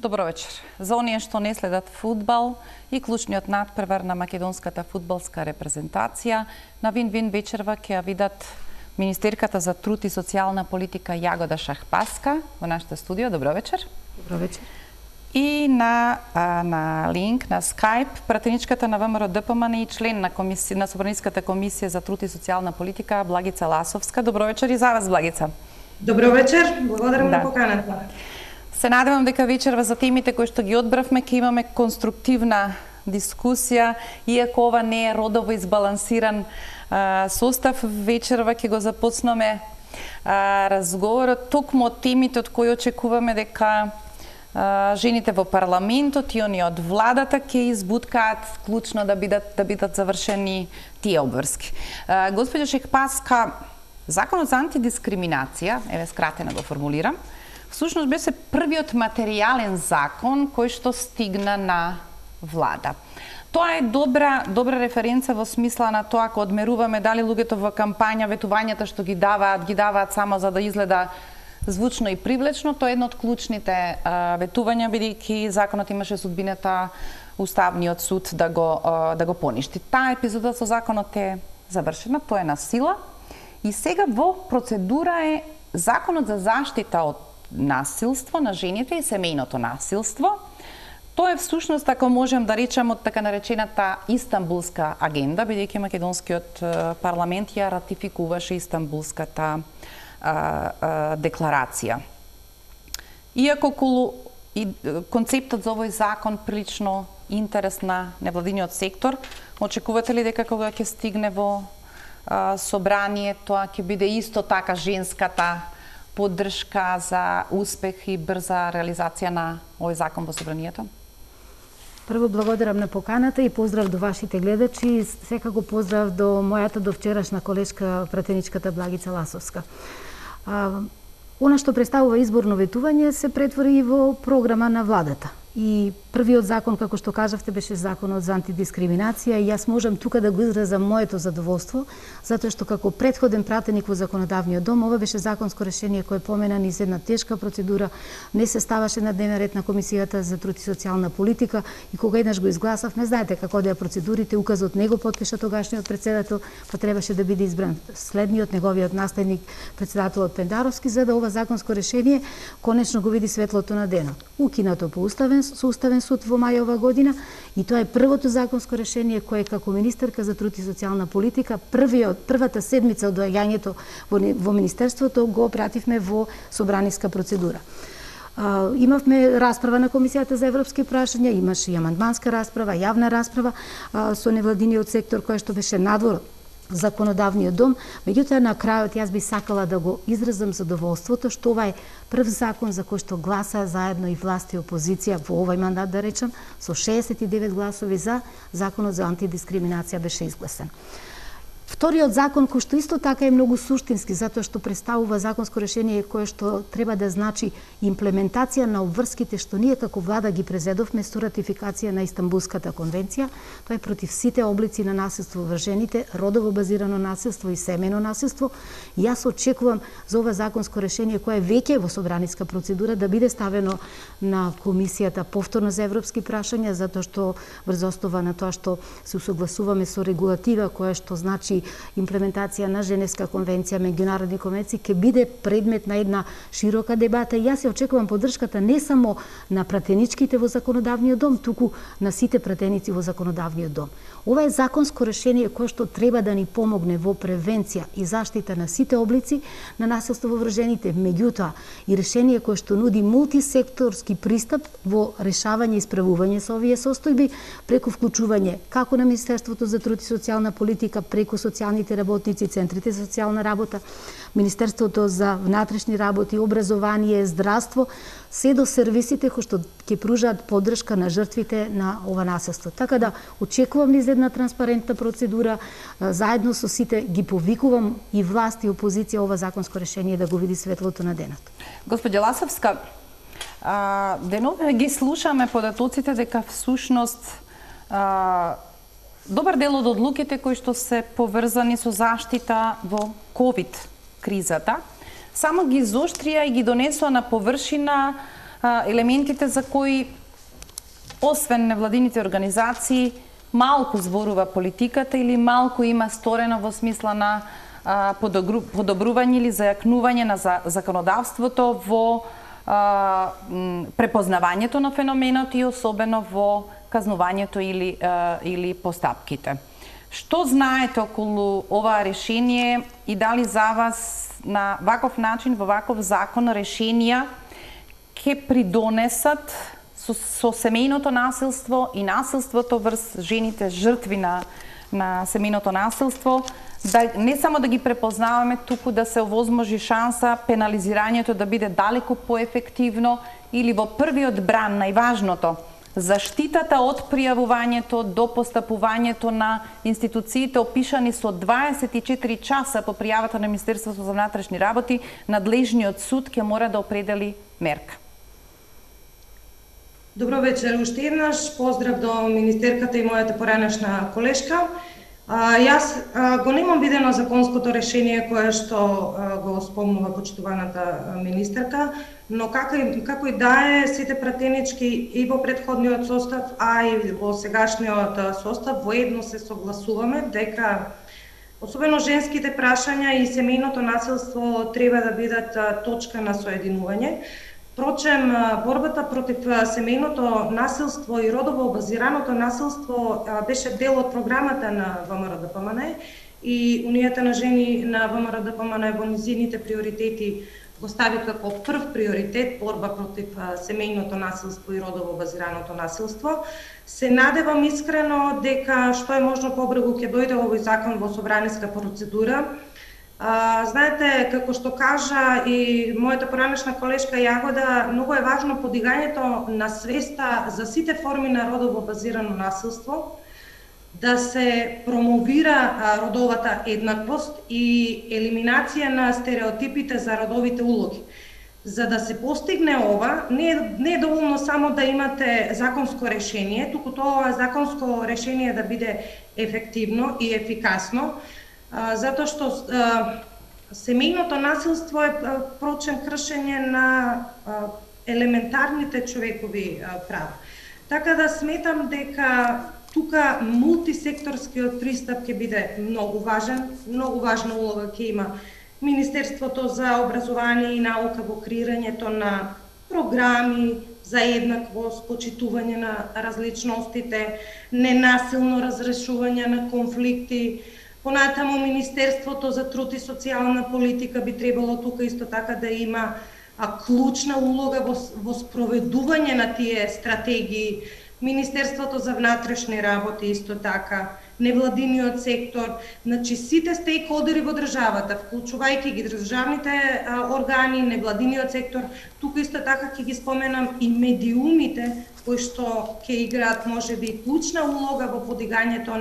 Добро вечер. За оние што не следат фудбал и клучниот надпревар на македонската фудбалска репрезентација, на Вин-Вин вечерва ќе ја видат министерката за труд и социјална политика Јагода Шахпаска во нашето студио. Добро вечер. Добро вечер. И на линк, на Skype, пратеничката на ВМРО ДПМН и член на Собраниската комисија за труд и социјална политика Благица Ласовска. Добро вечер и за вас, Благица. Добро вечер, благодарам на поканата. Се надевам дека вечерва за темите кои што ги одбравме ќе имаме конструктивна дискусија, иако ова не е родово избалансиран состав. Вечерва ќе го започнеме разговорот токму од темите од кои очекуваме дека жените во парламентот и они од владата ќе избуткаат клучно да бидат завршени тие обврски. Господја Шахпаска, Законот за антидискриминација, еве скратено го формулирам, всушност беше првиот материјален закон кој што стигна на влада. Тоа е добра референца во смисла на тоа ако одмеруваме дали луѓето во кампања ветувањата што ги даваат само за да изгледа звучно и привлечно, тоа е едно од клучните ветувања, бидејќи законот имаше судбината Уставниот суд да го поништи. Таа епизода со законот е завршена, тоа е на сила и сега во процедура е Законот за заштита од насилство на жените и семејното насилство. Тоа е всушност, ако можем да речем, од така наречената Истанбулска агенда, бидејќи македонскиот парламент ја ратификуваше Истанбулската декларација. Иако концептот за овој закон прилично интерес на невладиниот сектор, очекувате ли дека кога ќе стигне во собрание, тоа ќе биде исто така женската поддршка за успех и брза реализација на овој закон во собранието? Прво благодарам на поканата и поздрав до вашите гледачи и секако поздрав до мојата довчерашна колешка пратеничката Благица Ласовска. Она што представува изборно ветување се претвори во програма на владата. И првиот закон, како што кажавте, беше законот за антидискриминација и јас можам тука да го изразам моето задоволство, затоа што како претходен пратеник во законодавниот дом, ова беше законско решение кое помена низ една тешка процедура, не се ставаше на дневен ред на Комисијата за труд и социјална политика и кога еднаш го изгласавме, знаете како одеа процедурите, указот него потпиша тогашниот председател, па требаше да биде избран следниот неговиот наследник, председателот Пендаровски, за да ова законско решение конечно го види светлото на денот. Укинато по со Уставен суд во мај ова година и тоа е првото законско решение кое како министерка за труд и социјална политика првата седмица од доаѓањето во министерството го пративме во собраниска процедура. Имавме расправа на Комисијата за европски прашања, имаше и амандманска расправа, јавна расправа со невладиниот сектор кој што беше надвор законодавниот дом, меѓутоа на крајот јас би сакала да го изразам задоволството што ова е прв закон за кој што гласа заедно и власт и опозиција во овој мандат, да речем, со 69 гласови за, законот за антидискриминација беше изгласен. Вториот закон, кој што исто така е многу суштински, затоа што представува законско решение кое што треба да значи имплементација на обврските што ние како влада ги презедовме со ратификација на Истанбулската конвенција. Тоа е против сите облици на насилство врз жените, родово базирано насилство и семејно насилство. И јас очекувам за ова законско решение кое веќе во собраниска процедура да биде ставено на Комисијата повторно за европски прашања, затоа што врз основа на тоа што се усогласуваме со регулатива која што значи имплементација на Женевска конвенција, меѓународни конвенции, ќе биде предмет на една широка дебата и јас ја очекувам поддршката не само на пратеничките во законодавниот дом, туку на сите пратеници во законодавниот дом. Ова е законско решение кое што треба да ни помогне во превенција и заштита на сите облици на насилство во врз жените, меѓутоа и решение кое што нуди мултисекторски пристап во решавање и исправување со овие состојби преку вклучување како на Министерството за труд и социјална политика, преку социјалните работници, центрите за социјална работа, Министерството за внатрешни работи, образование, здравство, се до сервисите кои што ќе пружаат поддршка на жртвите на ова насилство. Така да очекувам низ една транспарентна процедура, заедно со сите ги повикувам и власт и опозиција ова законско решение да го види светлото на денот. Господја Ласовска, денове ги слушаме податоците дека всушност добар дел од одлуките кои што се поврзани со заштита во ковид кризата само ги изоштрија и ги донесоа на површина елементите за кои освен невладините организации малку зборува политиката или малку има сторено во смисла на подобрување или зајакнување на законодавството во препознавањето на феноменот и особено во казнувањето или постапките. Што знаете околу оваа решение и дали за вас на ваков начин, во ваков закон, решенија ќе придонесат со семејното насилство и насилството врз жените жртви на семејното насилство, да не само да ги препознаваме, туку да се овозможи шанса пенализирањето да биде далеку поефективно или во првиот бран, најважното, заштитата од пријавувањето до постапувањето на институциите опишани со 24 часа по пријавата на Министерството за внатрешни работи, надлежниот суд ќе мора да определи мерка. Добро вечер, уште еднаш поздрав до министерката и мојата поранешна колешка. Јас го немам видено законското решение кое што го спомнува почитуваната министерка, но како и да е, сите пратенички и во претходниот состав, а и во сегашниот состав воедно се согласуваме дека особено женските прашања и семејното насилство треба да бидат точка на соединување. Впрочем, борбата против семејното насилство и родово базираното насилство беше дел од програмата на ВМРО-ДПМН и Унијата на жени на ВМРО-ДПМН во низините приоритети го стави како прв приоритет борба против семејното насилство и родово базираното насилство. Се надевам искрено дека што е можно побрзо ќе дојде овој закон во собраниска процедура. Знаете, како што кажа и мојата поранешна колешка Јагода, многу е важно подигањето на свеста за сите форми на родово базирано насилство, да се промовира родовата еднаквост и елиминација на стереотипите за родовите улоги. За да се постигне ова, не е доволно само да имате законско решение, туку тоа законско решение да биде ефективно и ефикасно, затоа што семејното насилство е впрочем кршење на елементарните човекови права. Така да сметам дека тука мултисекторскиот пристап ќе биде многу важен, многу важна улога ќе има Министерството за образование и наука во креирањето на програми за еднаквост, почитување на различностите, ненасилно разрешување на конфликти. Понатаму Министерството за труд и социјална политика би требало тука исто така да има клучна улога во спроведување на тие стратегии. Министерството за внатрешни работи исто така, невладиниот сектор, значи сите стейкхолдери во државата, вклучувајќи ги државните органи, невладиниот сектор, тука исто така ќе ги споменам и медиумите кои што ќе играат можеби клучна улога во подигањето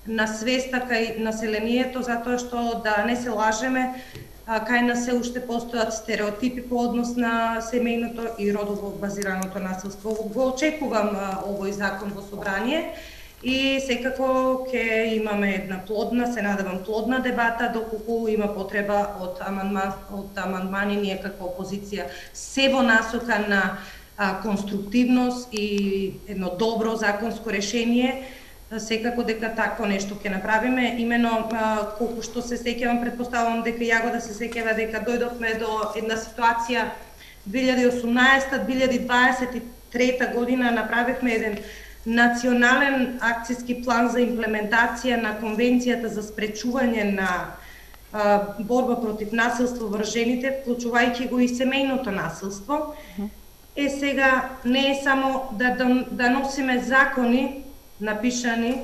на свеста кај населението, затоа што да не се лажеме, кај нас се уште постојат стереотипи по однос на семејното и родово базираното насилство. Го очекувам овој закон во собрание и секако ќе имаме една плодна, се надевам плодна дебата, доколку има потреба од амандмани, ние како опозиција се во насока на конструктивност и едно добро законско решение. Секако дека тако нешто ќе направиме, имено колку што се сеќавам, претпоставувам дека Јагода се сеќава дека дојдовме до една ситуација 2018-2023 година направивме еден национален акцијски план за имплементација на Конвенцијата за спречување на борба против насилство врз жените, вклучувајќи го и семејното насилство. Сега не е само да носиме закони напишани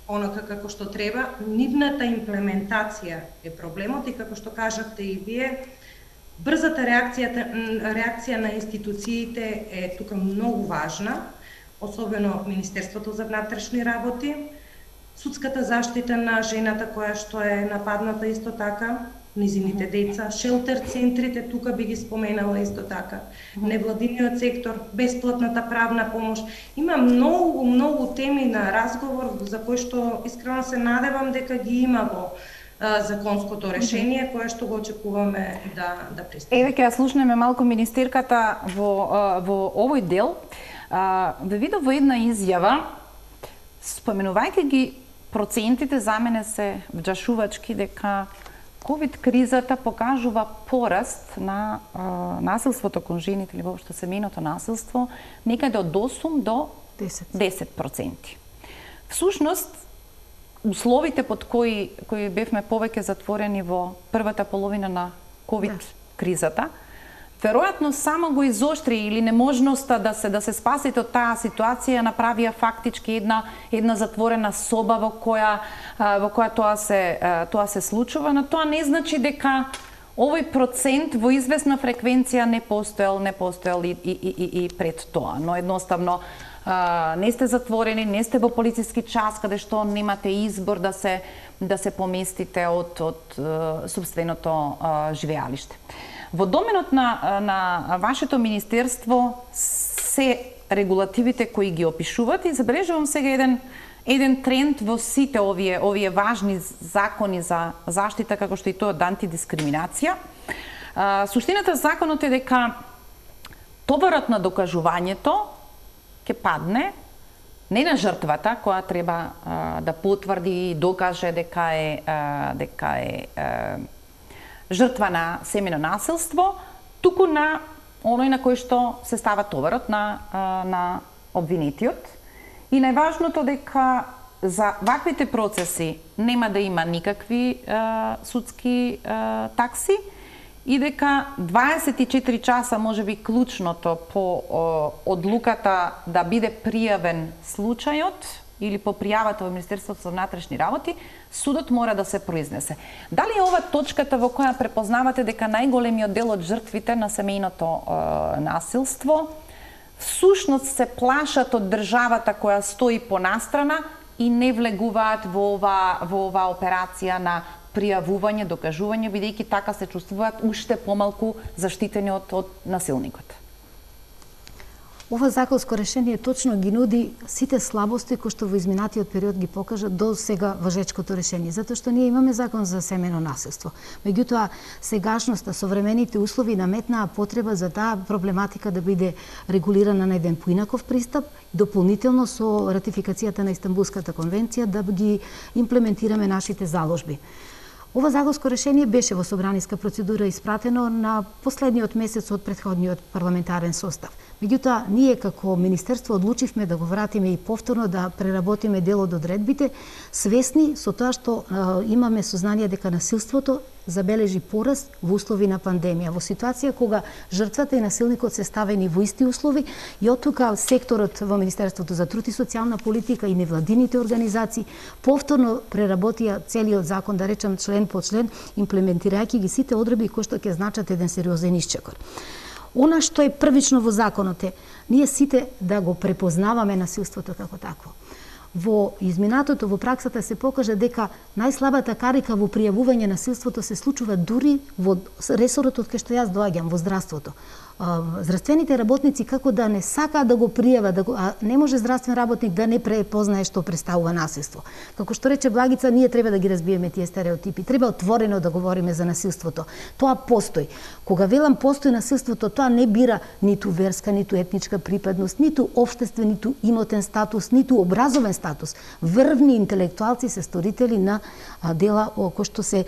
онака како што треба, нивната имплементација е проблемот и како што кажавте и вие, брзата реакција на институциите е тука многу важна, особено Министерството за внатрешни работи, судската заштита на жената која што е нападната исто така, низините деца, шелтер центрите, тука би ги споменала исто така, невладиниот сектор, бесплатната правна помош. Има многу теми на разговор за кои што искрено се надевам дека ги има во законското решение кое што го очекуваме да пристигне. Еве ќе ја слушнеме малку министерката во овој дел. Ве видов во една изјава, споменувајќи ги процентите, за мене се вџашувачки дека ковид кризата покажува пораст на насилството кон жените или воопшто семејното насилство некаде од 8 до 10%. Всушност, условите под кои бевме повеќе затворени во првата половина на ковид кризата, веројатно само го изоштри или неможноста да се спасите од таа ситуација направија фактички една затворена соба во која тоа се случува, но тоа не значи дека овој процент во известна фреквенција не постоел и пред тоа, но едноставно не сте затворени, не сте во полициски час каде што немате избор да се поместите од собственото живеалиште. Во доменот на вашето министерство се регулативите кои ги опишуват и забележувам сега еден тренд во сите овие важни закони за заштита, како што и тоа од антидискриминација. Суштината законот е дека товарот на докажувањето ќе падне не на жртвата која треба да потврди и докаже дека е жртва на семејно насилство, туку на оној на кој што се става товарот на обвинетиот. И најважното дека за ваквите процеси нема да има никакви судски такси и дека 24 часа можеби клучното по одлуката да биде пријавен случајот или по пријавата во Министерството за внатрешни работи, судот мора да се произнесе. Дали е ова точката во која препознавате дека најголемиот дел од жртвите на семејното насилство всушност се плашат од државата која стои понастрана и не влегуваат во ова операција на пријавување, докажување, бидејќи така се чувствуваат уште помалку заштитени од насилникот? Ова законско решение точно ги нуди сите слабости кои што во изминатиот период ги покажа до сега важечкото решение, затоа што ние имаме закон за семејно насилство. Меѓутоа, сегашноста, современите услови наметнаа потреба за таа проблематика да биде регулирана на еден поинаков пристап, дополнително со ратификацијата на Истанбулската конвенција да ги имплементираме нашите заложби. Ова законско решение беше во собраниска процедура испратено на последниот месец од претходниот парламентарен состав. Меѓутоа, ние како Министерство одлучивме да го вратиме и повторно да преработиме дел од одредбите, свесни со тоа што имаме сознание дека насилството забележи пораст во услови на пандемија, во ситуација кога жртвата и насилникот се ставени во исти услови и оттука секторот во Министерството за труд и социјална политика и невладините организации повторно преработија целиот закон, да речем член по член, имплементирајќи ги сите одредби кои што ќе значат еден сериозен исчекор. Она што е првично во законот е ние сите да го препознаваме насилството како такво. Во изминатото, во праксата се покажа дека најслабата карика во пријавување насилството се случува дури во ресорот од кај што јас доаѓам, во здравството. Здравствените работници како да не сакаат да го пријават, а не може здравствен работник да не препознае што представува насилство. Како што рече Благица, ние треба да ги разбиеме тие стереотипи, треба отворено да говориме за насилството. Тоа постои. Кога велам постои насилството, тоа не бира ниту верска, ниту етничка припадност, ниту општествен, ниту имотен статус, ниту образовен статус. Врвни интелектуалци се сторители на дела кои што се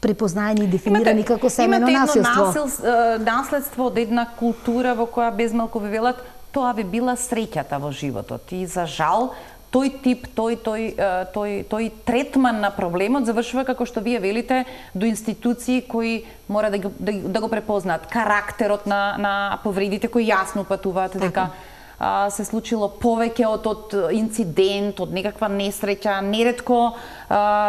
препознаени и дефинирани како семејно насилство. Имате едно наследство од една култура во која безмалку ви велат тоа ви била среќата во животот и за жал тој тип, тој третман на проблемот завршува како што вие велите до институции кои мора да го препознаат карактерот на повредите кои јасно упатуваат дека се случило повеќе од инцидент, од некаква несреќа. Неретко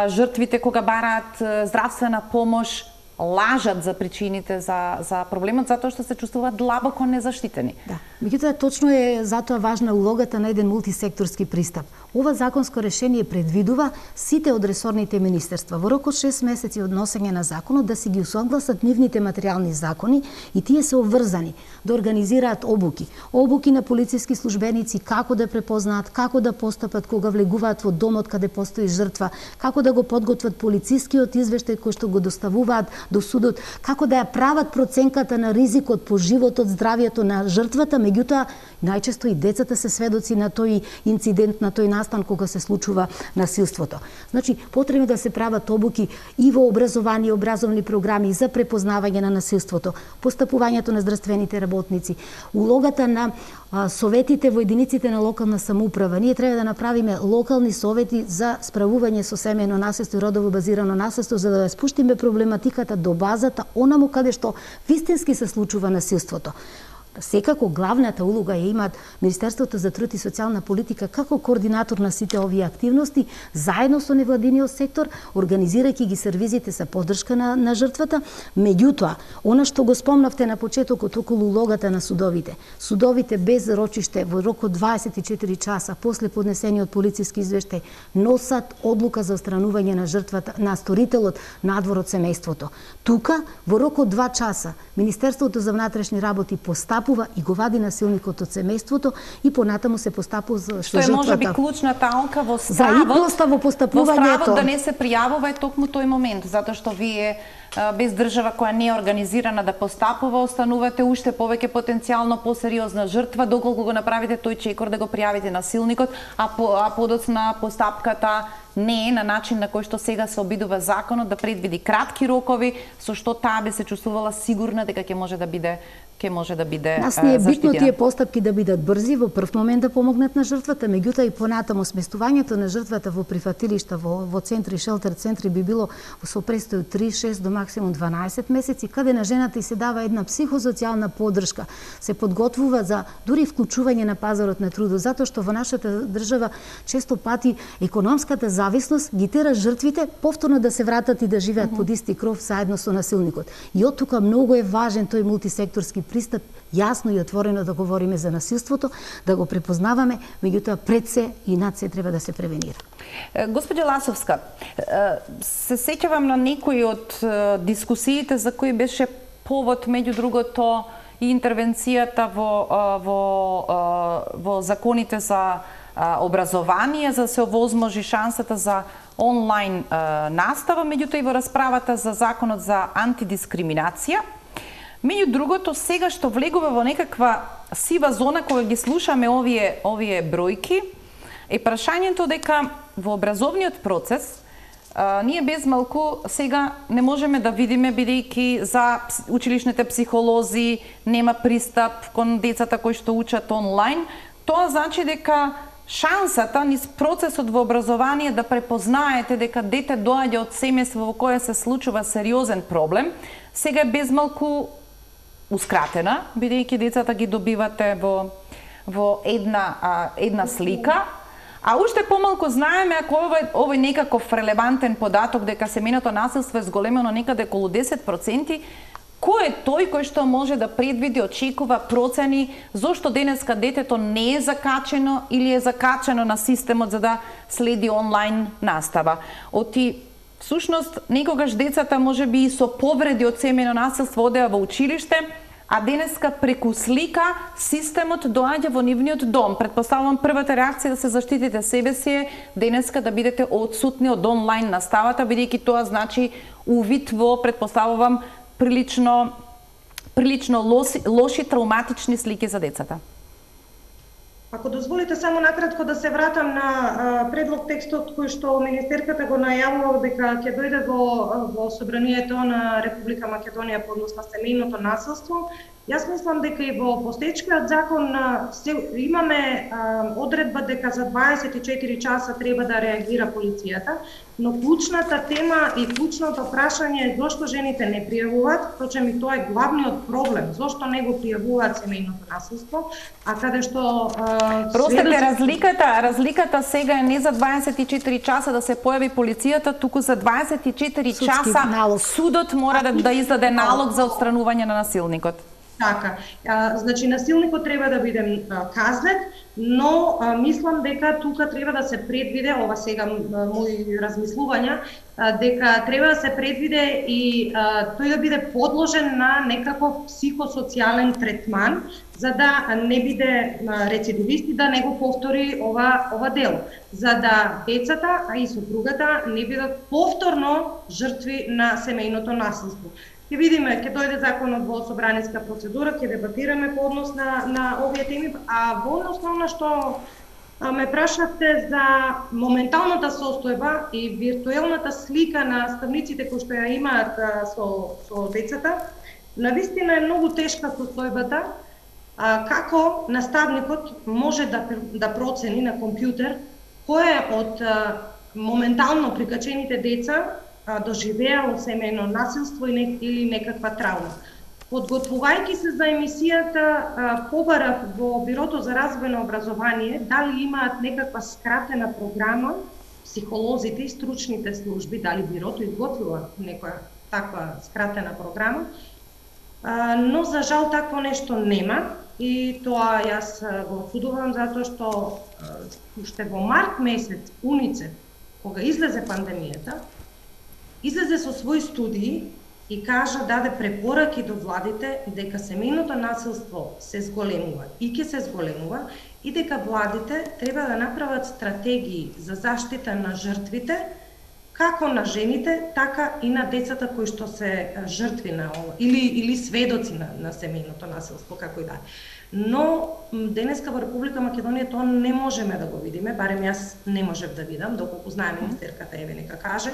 жртвите кога бараат здравствена помош лажат за причините за проблемот затоа што се чувствуваат длабоко незаштитени. Да. Меѓутоа точно е затоа важна улогата на еден мултисекторски пристап. Ова законско решение предвидува сите од ресорните министерства во рок од 6 месеци од носење на законот да си ги усогласат нивните материјални закони и тие се обврзани да организираат обуки. Обуки на полициски службеници како да препознаат, како да постапат кога влегуваат во домот каде постои жртва, како да го подготват полицискиот извештај кој што го доставуваат до судот, како да ја прават проценката на ризикот по животот, здравието на жртвата, меѓутоа најчесто и децата се сведоци на тој инцидент, на тој настан кога се случува насилството. Значи, потребно да се прават обуки и во образование, образовни програми за препознавање на насилството, постапувањето на здравствените работници, улогата на советите во единиците на локална самоуправа. Ние треба да направиме локални совети за справување со семејно насилство и родово базирано насилство, за да ја спуштиме проблематиката до базата, онаму каде што вистински се случува насилството. Секако главната улога ја имаат Министерството за труд и социјална политика како координатор на сите овие активности, заедно со невладиниот сектор, организирајќи ги сервизите за поддршка на жртвата. Меѓутоа, она што го спомнавте на почетокот околу улогата на судовите. Судовите без рочиште во рок од 24 часа после поднесениот полициски извештај носат одлука за отстранување на жртвата, на сторителот надвор од семејството. Тука, во рок од 2 часа, Министерството за внатрешни работи постапува и го вади насилникот од семејството и понатаму се постапува за што е можеби клучната алка во стравот да не се пријавува е токму тој момент, затоа што вие без држава која не е организирана да постапува, останувате уште повеќе потенцијално посериозна жртва, доколку го направите тој чекор да го пријавите насилникот, а подоцна постапката не е на начин на кој што сега се обидува законот да предвиди кратки рокови, со што таа би се чувствувала сигурна дека ќе може да биде заштитена. Нас не е битно тие постапки да бидат брзи, во прв момент да помогнат на жртвата, меѓутоа и понатаму сместувањето на жртвата во прифатилишта, во центри, шелтер центри би било со престој од 3-6 до максимум 12 месеци, каде на жената и се дава една психосоцијална поддршка, се подготвува за дури вклучување на пазарот на трудот, затоа што во нашата држава често пати економската зависност ги тера жртвите повторно да се вратат и да живеат под исти кров заедно со насилникот. И од тука многу е важен тој мултисекторски пристап, јасно и отворено да говориме за насилството, да го препознаваме, меѓутоа пред се и над се треба да се превенира. Господја Ласовска, се сеќавам на некои од дискусиите за кои беше повод, меѓу другото, и интервенцијата во законите за образование, за да се овозможи шансата за онлайн настава, меѓутоа и во расправата за законот за антидискриминација. Меѓу другото, сега што влегува во некаква сива зона кога ги слушаме овие бројки, е прашањето дека во образовниот процес ние без малку сега не можеме да видиме, бидејќи за училишните психолози нема пристап кон децата кои што учат онлайн. Тоа значи дека шансата низ процесот во образование да препознаете дека дете доаѓа од семејство во кое се случува сериозен проблем, сега е без малку ускратена, бидејќи децата ги добивате во една слика, а уште помалку знаеме ако овој некаков релевантен податок дека семејното насилство е зголемено некаде околу 10%, кој е тој кој што може да предвиди, очекува процени зошто денеска детето не е закачено или е закачено на системот за да следи онлайн настава. Всушност, некогаш децата може би и со повреди од семејно насилство одеа во училиште, а денеска преку слика системот доаѓа во нивниот дом. Предпоставувам првата реакција да се заштитите себе си е денеска да бидете одсутни од онлайн наставата, бидејќи тоа значи увид во, предпоставувам, прилично лоши травматични слики за децата. Ако дозволите само накратко да се вратам на предлог текстот кој што министерката го најавува дека ќе дојде во собранието на Република Македонија по однос на семејното насилство. Јас мислам дека и во постоечкиот закон имаме одредба дека за 24 часа треба да реагира полицијата, но клучната тема и клучното прашање е зошто жените не пријавуваат, точно и тоа е главниот проблем, зошто не го пријавуваат семејното насилство, а каде што Простете, разликата сега е не за 24 часа да се појави полицијата, туку за 24 часа судот мора да издаде налог за отстранување на насилникот. Така, значи насилникот треба да биде казнет, но мислам дека тука треба да се предвиде, ова сега мои размислувања, дека треба да се предвиде и тој да биде подложен на некаков психосоцијален третман, за да не биде рецидивист и да не го повтори ова дело, за да децата, а и сопругата не бидат повторно жртви на семејното насилство. Ќе видиме, ќе дојде законот во собраниска процедура, ќе дебатираме по однос на овие теми, а во однос на она што ме прашавте за моменталната состојба и виртуелната слика на наставниците кои што ја имаат со децата, навистина е многу тешка состојбата, како наставникот може да процени на компјутер кој од моментално прикачените деца доживеало семејно насилство или некаква траума. Подготвувајќи се за емисијата, побарав во Бирото за развојно образование дали имаат некаква скратена програма, психолозите и стручните служби, дали Бирото изготвила некоја таква скратена програма, но за жал такво нешто нема и тоа јас го осудувам затоа што уште во март месец УНИЦЕФ, кога излезе пандемијата, излезе со своји студии и кажа, даде препораки до владите дека семејното насилство се зголемува и ќе се зголемува и дека владите треба да направат стратегии за заштита на жртвите, како на жените, така и на децата кои што се жртви на ова или сведоци на семејното насилство, како и да. Но денеска во Република Македонија тоа не можеме да го видиме, барем јас не можев да видам, доколку знае министерката, еве нека каже,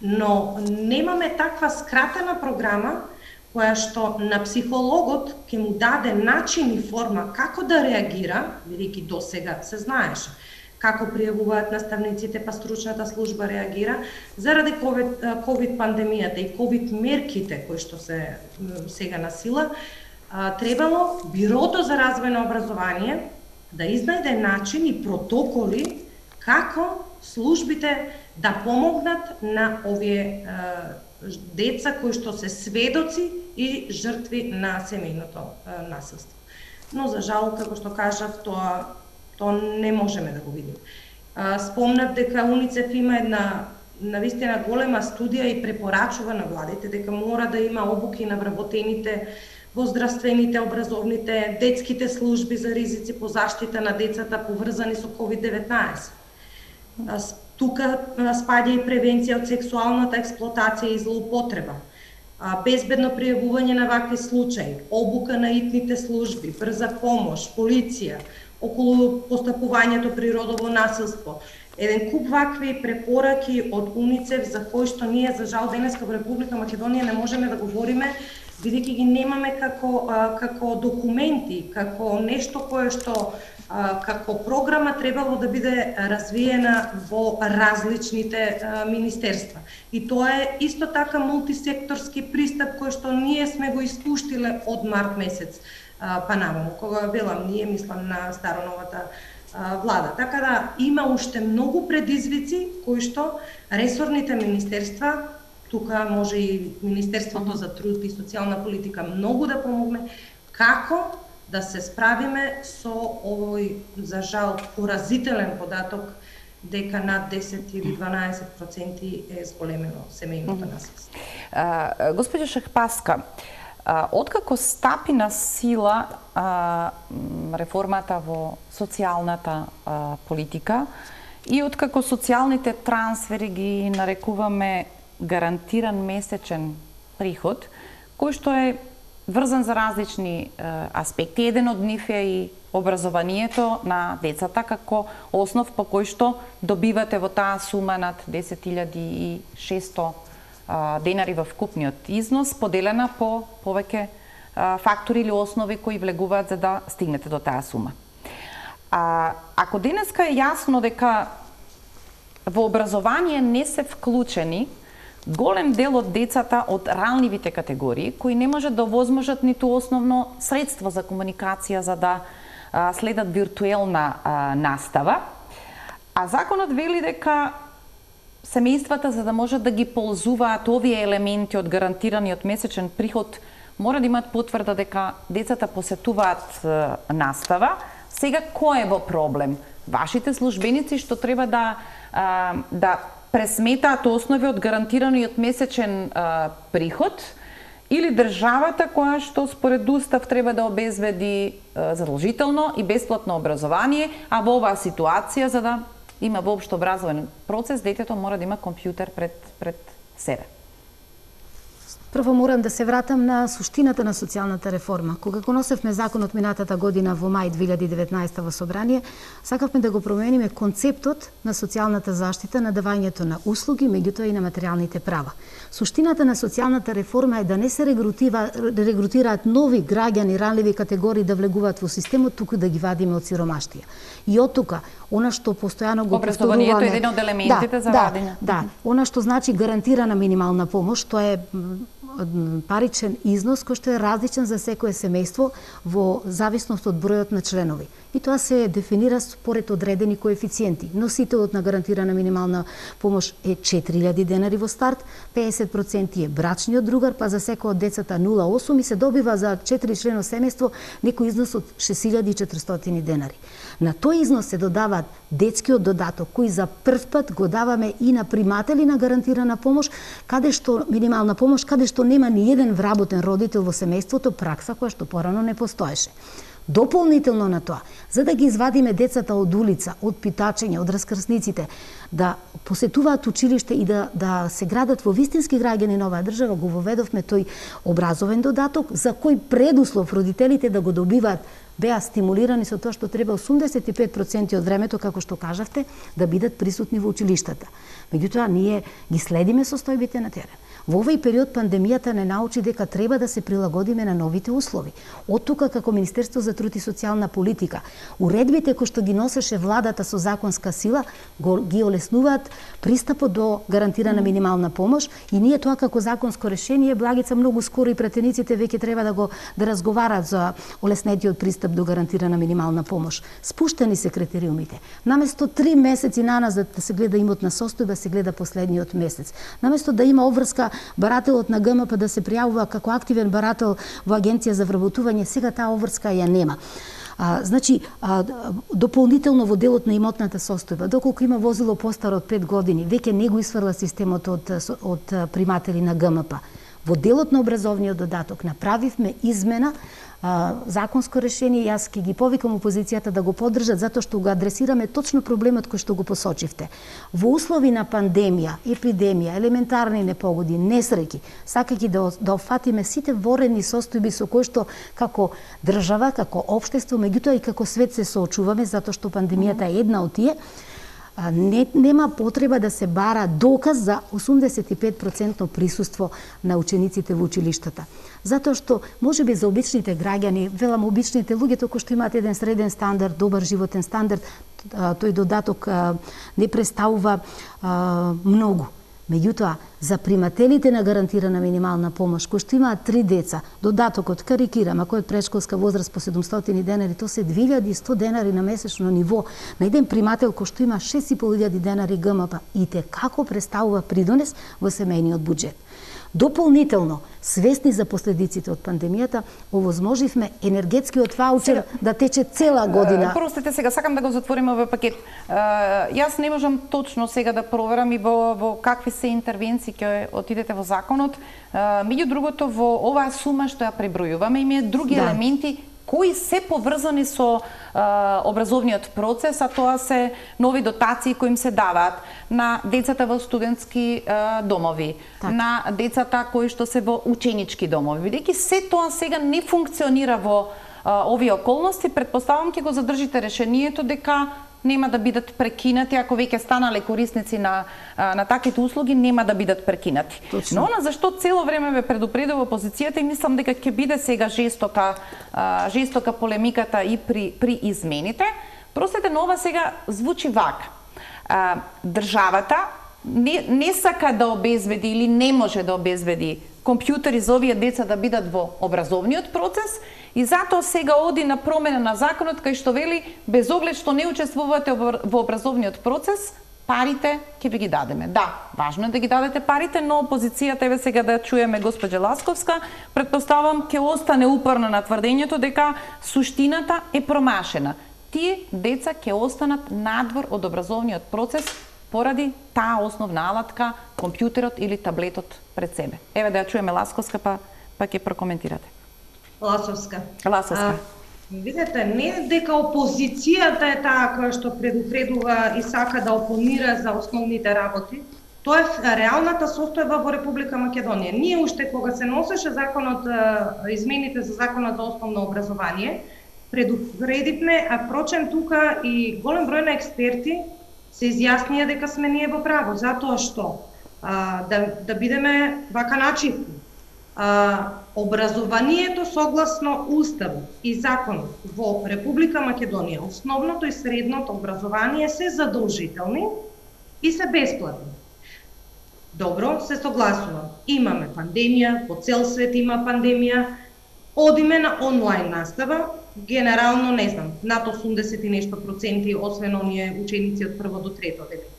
но немаме таква скратена програма која што на психологот ќе му даде начин и форма како да реагира, бидејќи досега се знаеше како пријавуваат наставниците, па стручната служба реагира, заради ковид пандемијата и ковид мерките кои што се сега на сила, требало Бирото за развојно образование да изнајде начин и протоколи како службите да помогнат на овие деца кои што се сведоци и жртви на семејното насилство. Но за жал, како што кажав, тоа не можеме да го видиме. Спомнав дека УНИЦЕФ има една навистина голема студија и препорачува на владите дека мора да има обуки на вработените во здравствените, образовните, детските служби за ризици по заштита на децата поврзани со COVID-19. Тука спаѓа и превенција од сексуалната експлоатација и злоупотреба, безбедно пријавување на вакви случаи, обука на итните служби, брза помош, полиција, околу постапувањето при родово насилство. Еден куп вакви препораки од УНИЦЕФ за кои што ние за жал денеска во Република Македонија не можеме да говориме, бидејќи ги немаме како документи, како нешто кое што како програма требало да биде развиена во различните министерства. И тоа е исто така мултисекторски пристап кој што ние сме го испуштиле од март месец па наваму, кога велам ние, мислам на староновата влада. Така да има уште многу предизвици кои што ресорните министерства, тука може и Министерството за труд и социјална политика многу да помогне, како да се справиме со овој, за жал, поразителен податок дека над 10 или 12% е зголемено семејното насилство. Господја Шехпаска, откако стапи на сила реформата во социјалната политика и откако социјалните трансфери ги нарекуваме гарантиран месечен приход, кој што е врзан за различни аспекти. Еден од нив е и образованието на децата како основ по кој што добивате во таа сума над 10.600 денари во вкупниот износ, поделена по повеќе фактори или основи кои влегуваат за да стигнете до таа сума. Ако денеска е јасно дека во образование не се вклучени голем дел од децата од ранливите категории, кои не можат да овозможат ниту основно средство за комуникација за да следат виртуелна настава, а законот вели дека семејствата за да можат да ги ползуваат овие елементи од гарантираниот месечен приход мора да имаат потврда дека децата посетуваат настава. Сега кој е во проблем? Вашите службеници што треба да пресметаат основи од гарантираниот месечен приход, или државата која што според устав треба да обезбеди задолжително и бесплатно образование, а во оваа ситуација за да има воопшто образовен процес, детето мора да има компјутер пред себе. Прво морам да се вратам на суштината на социјалната реформа. Кога го носевме законот минатата година во мај 2019 во собрание, сакавме да го промениме концептот на социјалната заштита, на давањето на услуги, меѓутоа и на материјалните права. Суштината на социјалната реформа е да не се регрутираат нови граѓани, ранливи категории да влегуваат во системот, туку да ги вадиме од сиромаштија. И од тука, она што постојано го повторуваме... Образованието е еден од елементите за вадење. Да, она што значи гарантирана минимална помош, тоа е паричен износ кој што е различен за секое семејство во зависност од бројот на членови. И тоа се дефинира според одредени коефициенти. Носителот на гарантирана минимална помош е 4000 денари во старт, 50% е брачниот другар, па за секој од децата 0,8 и се добива за 4 члено семејство некој износ од 6400 денари. На тој износ се додаваат детскиот додаток, кој за прв пат го даваме и на приматели на гарантирана помош, каде што минимална помош, каде што нема ни еден вработен родител во семејството, пракса која што порано не постоеше. Дополнително на тоа, за да ги извадиме децата од улица, од питачење, од раскрсниците, да посетуваат училиште и да се градат во вистински граѓани на оваа држава, го воведовме тој образовен додаток, за кој предуслов родителите да го добиваат беа стимулирани со тоа што треба 85% од времето, како што кажавте, да бидат присутни во училиштата. Меѓутоа, ние ги следиме состојбите на терен. Во овој период пандемијата не научи дека треба да се прилагодиме на новите услови. Од тука, како Министерство за труд и социјална политика, уредбите кои што ги носеше владата со законска сила, ги олеснуваат пристапот до гарантирана минимална помош и ние тоа како законско решение, Благица, многу скоро и пратениците веќе треба да разговараат за олеснетиот пристап до гарантирана минимална помош. Спуштени се критериумите. Наместо 3 месеци наназад да се гледа имотна состојба, се гледа последниот месец. Наместо да има обврска барателот на ГМП да се пријавува како активен барател во Агенција за вработување, сега таа обврска ја нема. Дополнително во делот на имотната состојба, доколку има возило постаро од 5 години, веќе не го исфрла системот од приматели на ГМП. Во делот на образовниот додаток направивме измена, законско решение, јас ќе ги повикам опозицијата да го поддржат, затоа што го адресираме точно проблемот кој што го посочивте. Во услови на пандемија, епидемија, елементарни непогоди, несреќи, сакајќи да офатиме сите ворени состојби со кои што како држава, како општество, меѓутоа и како свет се соочуваме, затоа што пандемијата е една од тие, нема потреба да се бара доказ за 85% присуство на учениците во училиштата. Затоа што можеби за обичните граѓани, велам обичните луѓе, кои што имаат еден среден стандард, добар животен стандард, тој додаток не представува многу. Меѓутоа, за примателите на гарантирана минимална помош, кои што имаат 3 деца, додатокот, карикирам, ако е предшколска возраст по 700 денари, то се 2100 денари на месечно ниво. На еден примател кој што има 6500 денари ГМП, и те како представува придонес во семејниот буџет. Дополнително, свесни за последиците од пандемијата, овозможивме енергетскиот ваучер да тече цела година. Простете, сега сакам да го затвориме овој пакет. Јас не можам точно сега да проверам и во какви се интервенции ќе отидете во законот. Меѓу другото, во оваа сума што ја пребројуваме, има други елементи кои се поврзани со образовниот процес, а тоа се нови дотации кои им се даваат на децата во студентски домови, на децата кои што се во ученички домови. Бидејќи се тоа сега не функционира во овие околности, предпоставам ќе го задржите решението дека нема да бидат прекинати, ако веќе станале корисници на таквите услуги, нема да бидат прекинати. Точно. Но она зашто цело време ве предупредува опозицијата и мислам дека ќе биде сега жестока полемиката и при измените. Простете, но ова сега звучи вака. Државата не сака да обезбеди или не може да обезбеди компјутери за овие деца да бидат во образовниот процес и затоа сега оди на промена на законот кај што вели без оглед што не учествувате во образовниот процес, парите ќе ви ги дадеме. Да, важно е да ги дадете парите, но опозицијата, еве сега да чуеме госпоѓа Ласковска, претпоставам ќе остане упорна на тврдењето дека суштината е промашена. Тие деца ќе останат надвор од образовниот процес поради таа основна алатка, компјутерот или таблетот пред себе. Еве да ја чуеме Ласковска, па ќе прокоментирате. Ласовска. Видете, не дека опозицијата е таа која што предупредува и сака да опонира за основните работи, тоа е реалната состојба во Република Македонија. Ние уште кога се носеше законот, измените за законот за основно образование, предупредивме, а впрочем тука и голем број на експерти се изјаснија дека сме ние во право, затоа што да бидеме вака начисти. Образованието согласно Уставот и законот во Република Македонија, основното и средното образование се задолжителни и се бесплатни. Добро, се согласувам. Имаме пандемија, по цел свет има пандемија, одиме на онлайн настава, генерално, не знам, над 80 и нешто проценти, освен оние ученици од прво до трето дете.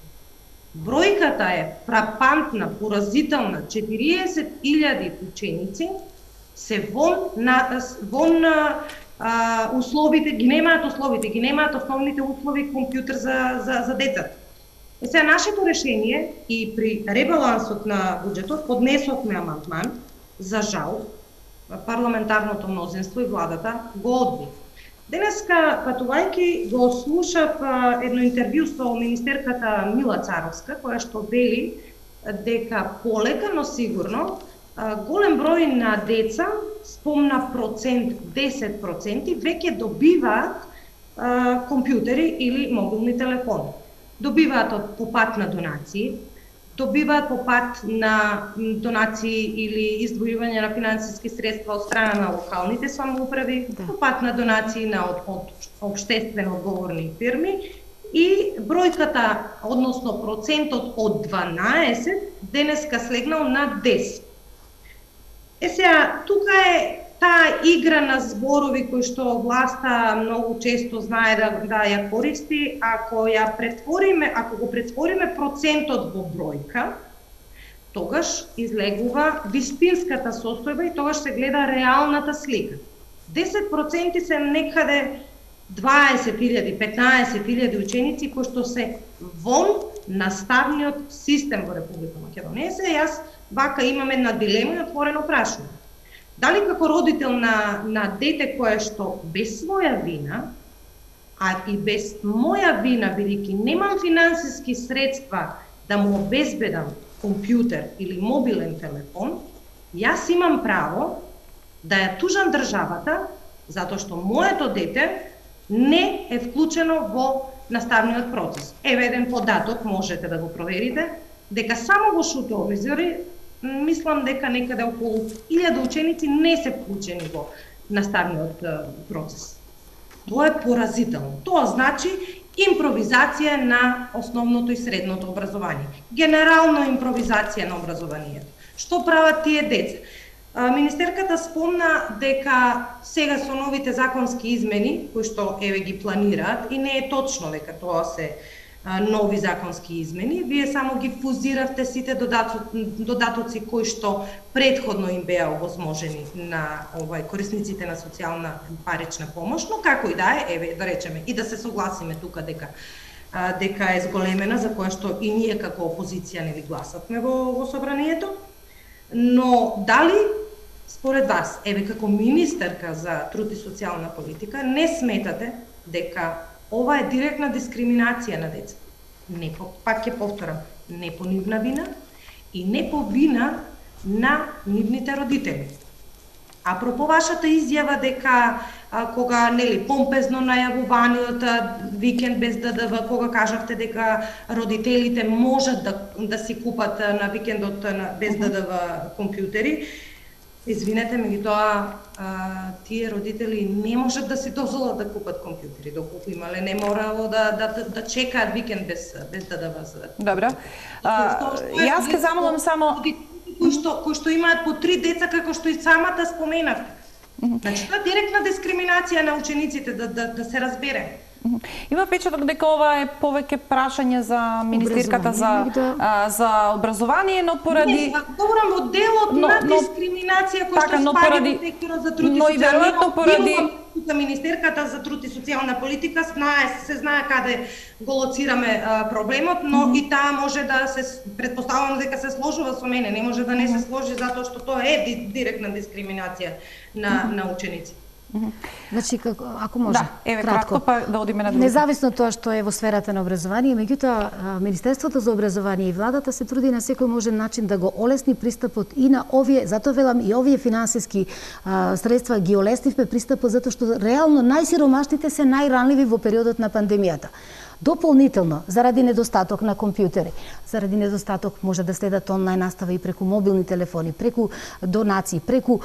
Бројката е фрапантна, поразителна, 40.000 ученици се вон условите, ги немаат основните услови компјутер за децата. Сега нашето решение и при ребалансот на буџетот поднесовме амандман, за жал, парламентарното мнозинство и владата го одби. Денеска, патувајќи, го слушав едно интервју со министерката Мила Царовска, која што вели дека полека, но сигурно, голем број на деца, спомна процент, 10%, веќе добиваат компјутери или мобилни телефони. Добиваат по пат на донации, добиваат по пат на донации или издвојување на финансиски средства од страна на локалните самоуправи, по пат на донации од општествено одговорни фирми и бројката, односно процентот од 12 денеска слегнал на 10. Сега, тука е таа игра на зборови кои што власта многу често знае да ја користи, ако го претвориме процентот во бројка, тогаш излегува вистинската состојба и тогаш се гледа реалната слика. 10% се некаде 20.000, 15.000 ученици кои што се вон наставниот систем во Република Македонија. Јас вака имам една дилема и отворено прашање. Дали како родител на дете кое што без своја вина, а и без моја вина, бидејќи немам финансиски средства да му обезбедам компјутер или мобилен телефон, јас имам право да ја тужам државата затоа што моето дете не е вклучено во наставниот процес. Еве еден податок, можете да го проверите, дека само во Шутовизори мислам дека некаде околу 1000 ученици не се вклучени во наставниот процес. Тоа е поразително. Тоа значи импровизација на основното и средното образование. Генерално импровизација на образованието. Што прават тие деца? Министерката спомна дека сега со новите законски измени, кои што еве ги планираат, и не е точно дека тоа се нови законски измени, вие само ги фузиравте сите додатоци кои што предходно им беа овозможени на корисниците на социјална парична помош, но како и да е, еве да речеме и да се согласиме тука дека е зголемена, за која што и ние како опозиција не ли гласавме во собранието. Но дали според вас, еве како министерка за труд и социјална политика, не сметате дека ова е директна дискриминација на деца? Не, пак ќе повторам, не по нивна вина и не по вина на нивните родители. Апропо вашата изјава дека кога помпезно најавуваниот викенд без ДДВ, кога кажавте дека родителите можат да си купат на викендот без ДДВ компјутери, извинете, меѓутоа тие родители не можат да си дозволат да купат компјутери, доколку имале не морало да чекаат викенд без ДДВ. Добро. Јас ќе замолам само кои што имаат по 3 деца, како што и самата споменавте. Значи, тоа е директна дискриминација на учениците, да се разбере. Има впечаток дека ова е повеќе прашање за министерката за образование, но поради говорам во делот на дискриминација која што спаѓа во секторот за труд и социјална министерката за труд и социјална политика се знае каде го лоцираме проблемот, но и таа може да се претпоставувам дека се сложува со мене, не може да не се сложи затоа што тоа е директна дискриминација на ученици. Значи, ако може, кратко па да одиме на друго. Независно тоа што е во сферата на образование, меѓутоа Министерството за образование и владата се труди на секој можен начин да го олесни пристапот и на овие, затоа велам и овие финансиски средства ги олеснивме пристапот затоа што реално најсиромашните се најранливи во периодот на пандемијата. Дополнително, заради недостаток на компјутери, заради недостаток може да следат онлайн настава и преку мобилни телефони, преку донации, преку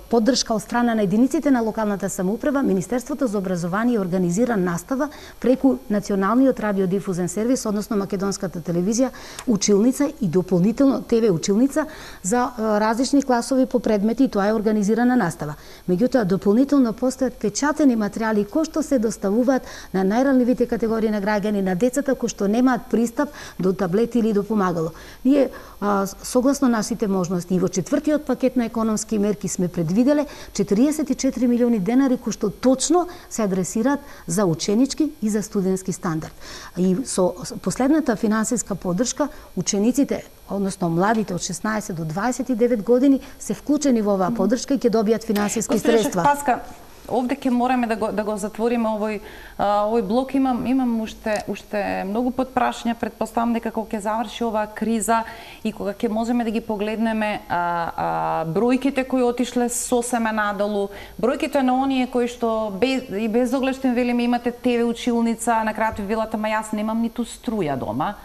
поддршка од страна на единиците на локалната самоуправа, Министерството за образование организира настава преку Националниот радиодифузен сервис, односно Македонската телевизија, училница и дополнително ТВ училница за различни класови по предмети, и тоа е организирана настава. Меѓутоа, дополнително постојат печатени материјали кои што се доставуваат на најранливите категории на граѓани, на децата кои што немаат пристап до таблети или до помагало. Ние, согласно нашите можности, и во четвртиот пакет на економски мерки сме предвиделе 44 милиони денари кои што точно се адресираат за ученички и за студентски стандард. И со последната финансиска поддршка, учениците, односно младите од 16 до 29 години, се вклучени во оваа поддршка и ќе добијат финансиски средства. Паска, овде ќе мораме да го затвориме овој блок. Имам уште многу подпрашања. Претпоставам дека кога ќе заврши оваа криза и кога ќе можеме да ги погледнеме бројките кои отишле сосема надолу, бројките на оние кои што без оглед што им велиме имате ТВ училница, на крајот ви велат, ама јас немам ниту струја дома.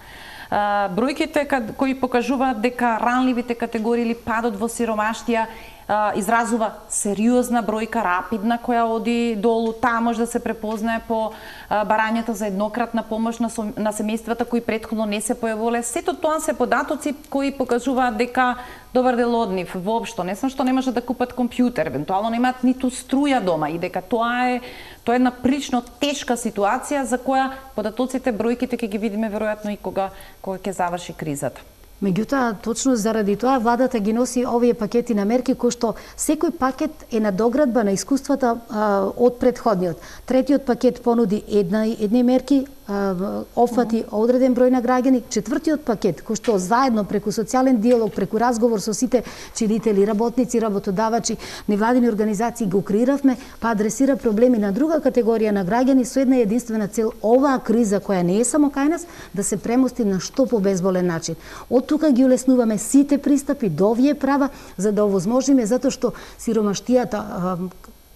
Бројките кои покажуваат дека ранливите категории или падот во сиромаштија изразува сериозна бројка, рапидна, која оди долу. Таа може да се препознае по барањата за еднократна помош на семејствата кои претходно не се појавувале. Сето тоа се податоци кои покажуваат дека добар дел од нив воопшто не само што не може да купат компјутер, евентуално немаат ниту струја дома, и дека тоа е една прилично тешка ситуација за која податоците, бројките ќе ги видиме веројатно и кога ќе заврши кризата. Меѓутоа, точно заради тоа владата ги носи овие пакети на мерки кои што секој пакет е надоградба на искуствата од претходниот. Третиот пакет понуди едни мерки, опфати одреден број на граѓани. Четвртиот пакет, кој што заедно преку социјален диалог, преку разговор со сите чинители, работници, работодавачи, невладини организации го креиравме, па адресира проблеми на друга категорија на граѓани со една единствена цел: оваа криза која не е само кај нас да се премости на што побезболен начин. Од тука ги улеснуваме сите пристапи до овие права за да овозможиме, затоа што сиромаштијата,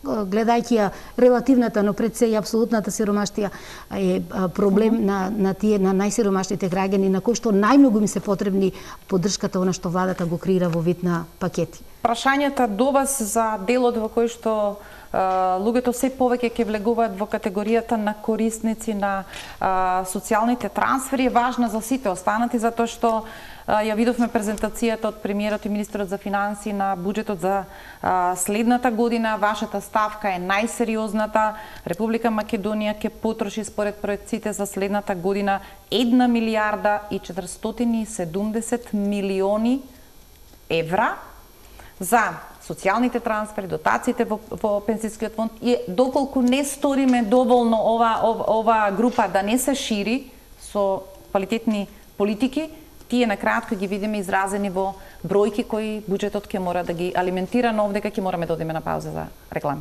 гледајќи ја релативната, но пред се и апсолутната сиромаштија е проблем на најсиромашните граѓани, на кои што најмногу им се потребни поддршката она што владата го креира во вид на пакети. Прашањата до вас за делот во кој што луѓето се повеќе ќе влегуваат во категоријата на корисници на социјалните трансфери е важна за сите останати, затоа што ја видовме презентацијата од премиерот и министерот за финансии на буџетот за следната година. Вашата ставка е најсериозната. Република Македонија ќе потроши според проекциите за следната година 1 милијарда и 470 милиони евра за социјалните трансфери, дотациите во пензискиот фонд, и доколку не сториме доволно ова група да не се шири со квалитетни политики, тие на кратко ги видиме изразени во бројки кои буџетот ќе мора да ги алиментира, но овдека ќе мораме да одиме на пауза за реклами.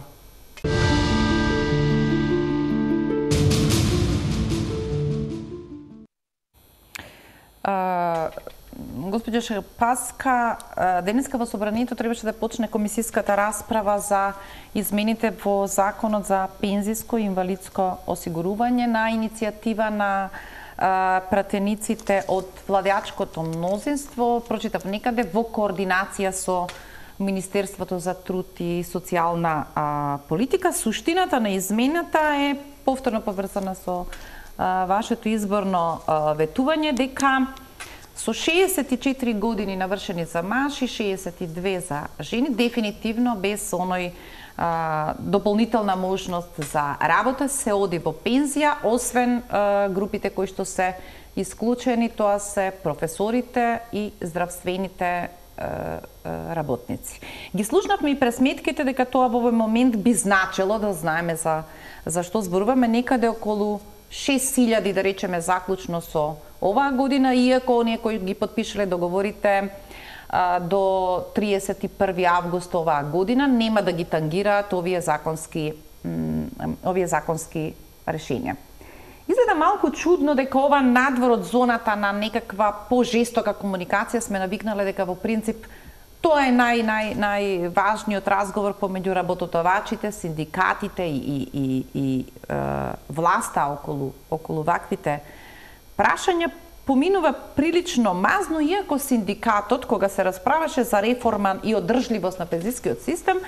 Господја Шапаска, денеска во Собранието требаше да почне комисиската расправа за измените во Законот за пензиско и инвалидско осигурување на иницијатива на пратениците од владеачкото мнозинство. Прочитав некаде во координација со Министерството за труд и социјална политика. Суштината на измената е повторно поврзана со вашето изборно ветување, дека со 64 години навршени за маж и 62 за жени, дефинитивно без оној дополнителна можност за работа, се оди во пензија, освен групите кои што се исклучени, тоа се професорите и здравствените работници. Ги слушнавме и пресметките дека тоа во овој момент би значило, да знаеме за што зборуваме, некаде околу 6.000, да речеме, заклучно со оваа година, иако оние кои ги подпишале договорите до 31 август оваа година нема да ги тангираат овие законски решенија. Изгледа малку чудно дека ова надвор од зоната на некаква пожестока комуникација сме навикнале дека во принцип тоа е најважниот разговор помеѓу работодавачите, синдикатите и власта околу ваквите прашања. Поминува прилично мазно, иако синдикатот, кога се расправаше за реформа и одржливост на пензискиот систем,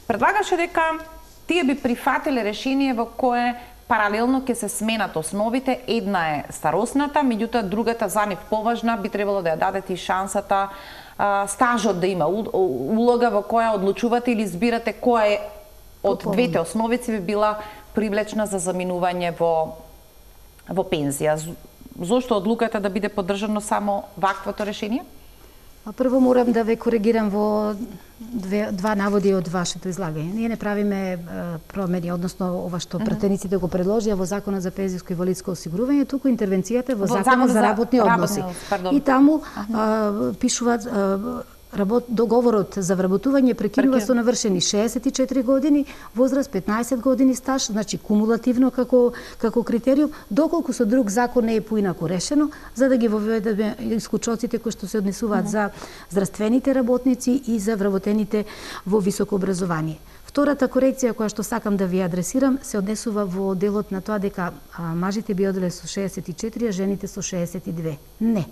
предлагаше дека тие би прифатиле решение во кое паралелно ќе се сменат основите. Една е старосната, меѓутоа другата за нив поважна би требало да ја дадете и шансата стажот да има улога во која одлучувате или избирате која е од двете основици би била привлечна за заминување во пензија. Зошто одлуката да биде поддржано само ваквото решение? Прво морам да ве коригирам во два наводи од вашето излагање. Ние не правиме промени, односно ова што пратениците го предложија во Законот за пензиско и инвалидско осигурување, туку интервенцијата во Законот за работни односи. И таму пишуваат договорот за вработување прекинува со навршени 64 години, возраст 15 години стаж, значи кумулативно како критериум, доколку со друг закон не е поинаку решено, за да ги воведеме исклучоците кои што се однесуваат за здравствените работници и за вработените во високо образование. Втората корекција која што сакам да ви адресирам се однесува во делот на тоа дека мажите би оделе со 64, а жените со 62. Не.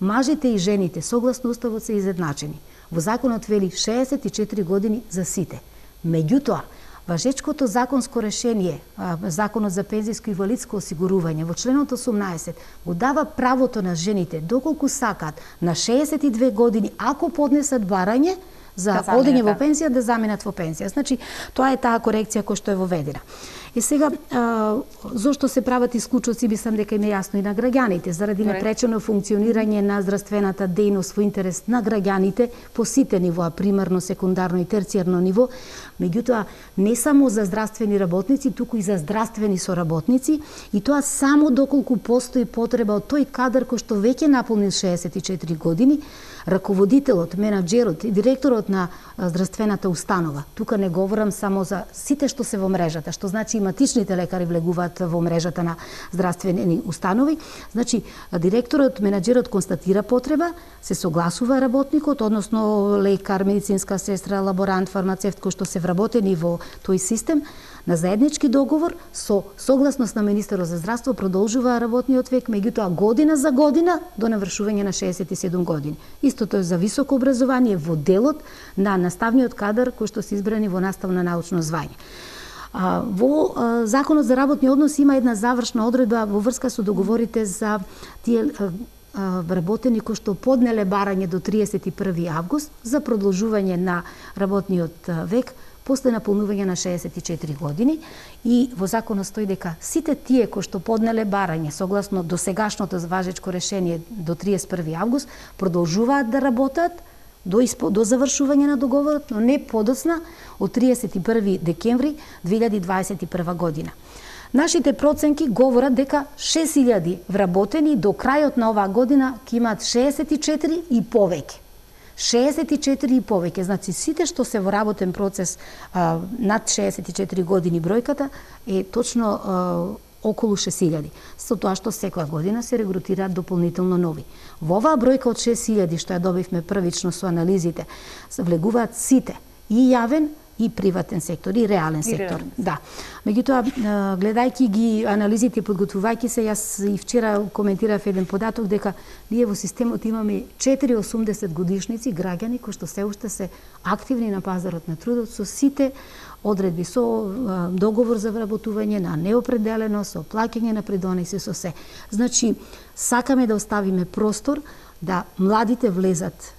Мажите и жените согласно уставот се изедначени. Во законот вели 64 години за сите. Меѓутоа, важечкото законско решение, Законот за пензиско и инвалидско осигурување во членот 18 го дава правото на жените доколку сакаат на 62 години ако поднесат барање за одење во пензија да заминат во пензија. Значи, тоа е таа корекција која што е воведена. И сега, зошто се прават исклучоци, мислам дека им е јасно и на граѓаните, заради непречено функционирање на здравствената дејност во интерес на граѓаните по сите нивоа, примарно, секундарно и терцијарно ниво, меѓутоа не само за здравствени работници, туку и за здравствени соработници, и тоа само доколку постои потреба од тој кадар кој што веќе наполнил 64 години, раководителот, менаџерот и директорот на здравствената установа. Тука не говорам само за сите што се во мрежата, што значи иматичните лекари влегуваат во мрежата на здравствени установи. Значи, директорот, менаџерот констатира потреба, се согласува работникот, односно лекар, медицинска сестра, лаборант, фармацевт кој што се вработени во тој систем, на заеднички договор со согласност на министерот за здравство продолжува работниот век, меѓутоа година за година до навршување на 67 години. Истото е за високо образование во делот на наставниот кадар кој што се избрани во наставно научно звање. Во Законот за работни односи има една завршна одредба во врска со договорите за тие вработени кои што поднеле барање до 31 август за продолжување на работниот век после наполнување на 64 години, и во законот стои дека сите тие кои што поднеле барање согласно досегашното важечко решение до 31 август продолжуваат да работат до завршување на договорот, но не подоцна од 31 декември 2021 година. Нашите проценки говорат дека 6000 вработени до крајот на оваа година ќе имаат 64 и повеќе. 64 и повеќе, значи сите што се во работен процес над 64 години бројката е точно околу 6000. Со тоа што секоја година се регрутираат дополнително нови. Во оваа бројка од 6000 што ја добивме првично со анализите, влегуваат сите, и јавен и приватен сектор, и реален сектор. Да. Меѓутоа, гледајќи ги анализите и подготвувајќи се, јас и вчера коментирав еден податок дека ние во системот имаме 480 годишници граѓани кои што се уште се активни на пазарот на трудот со сите одредби, со договор за вработување на неопределено, со плаќање на придонеси, со се. Значи, сакаме да оставиме простор да младите влезат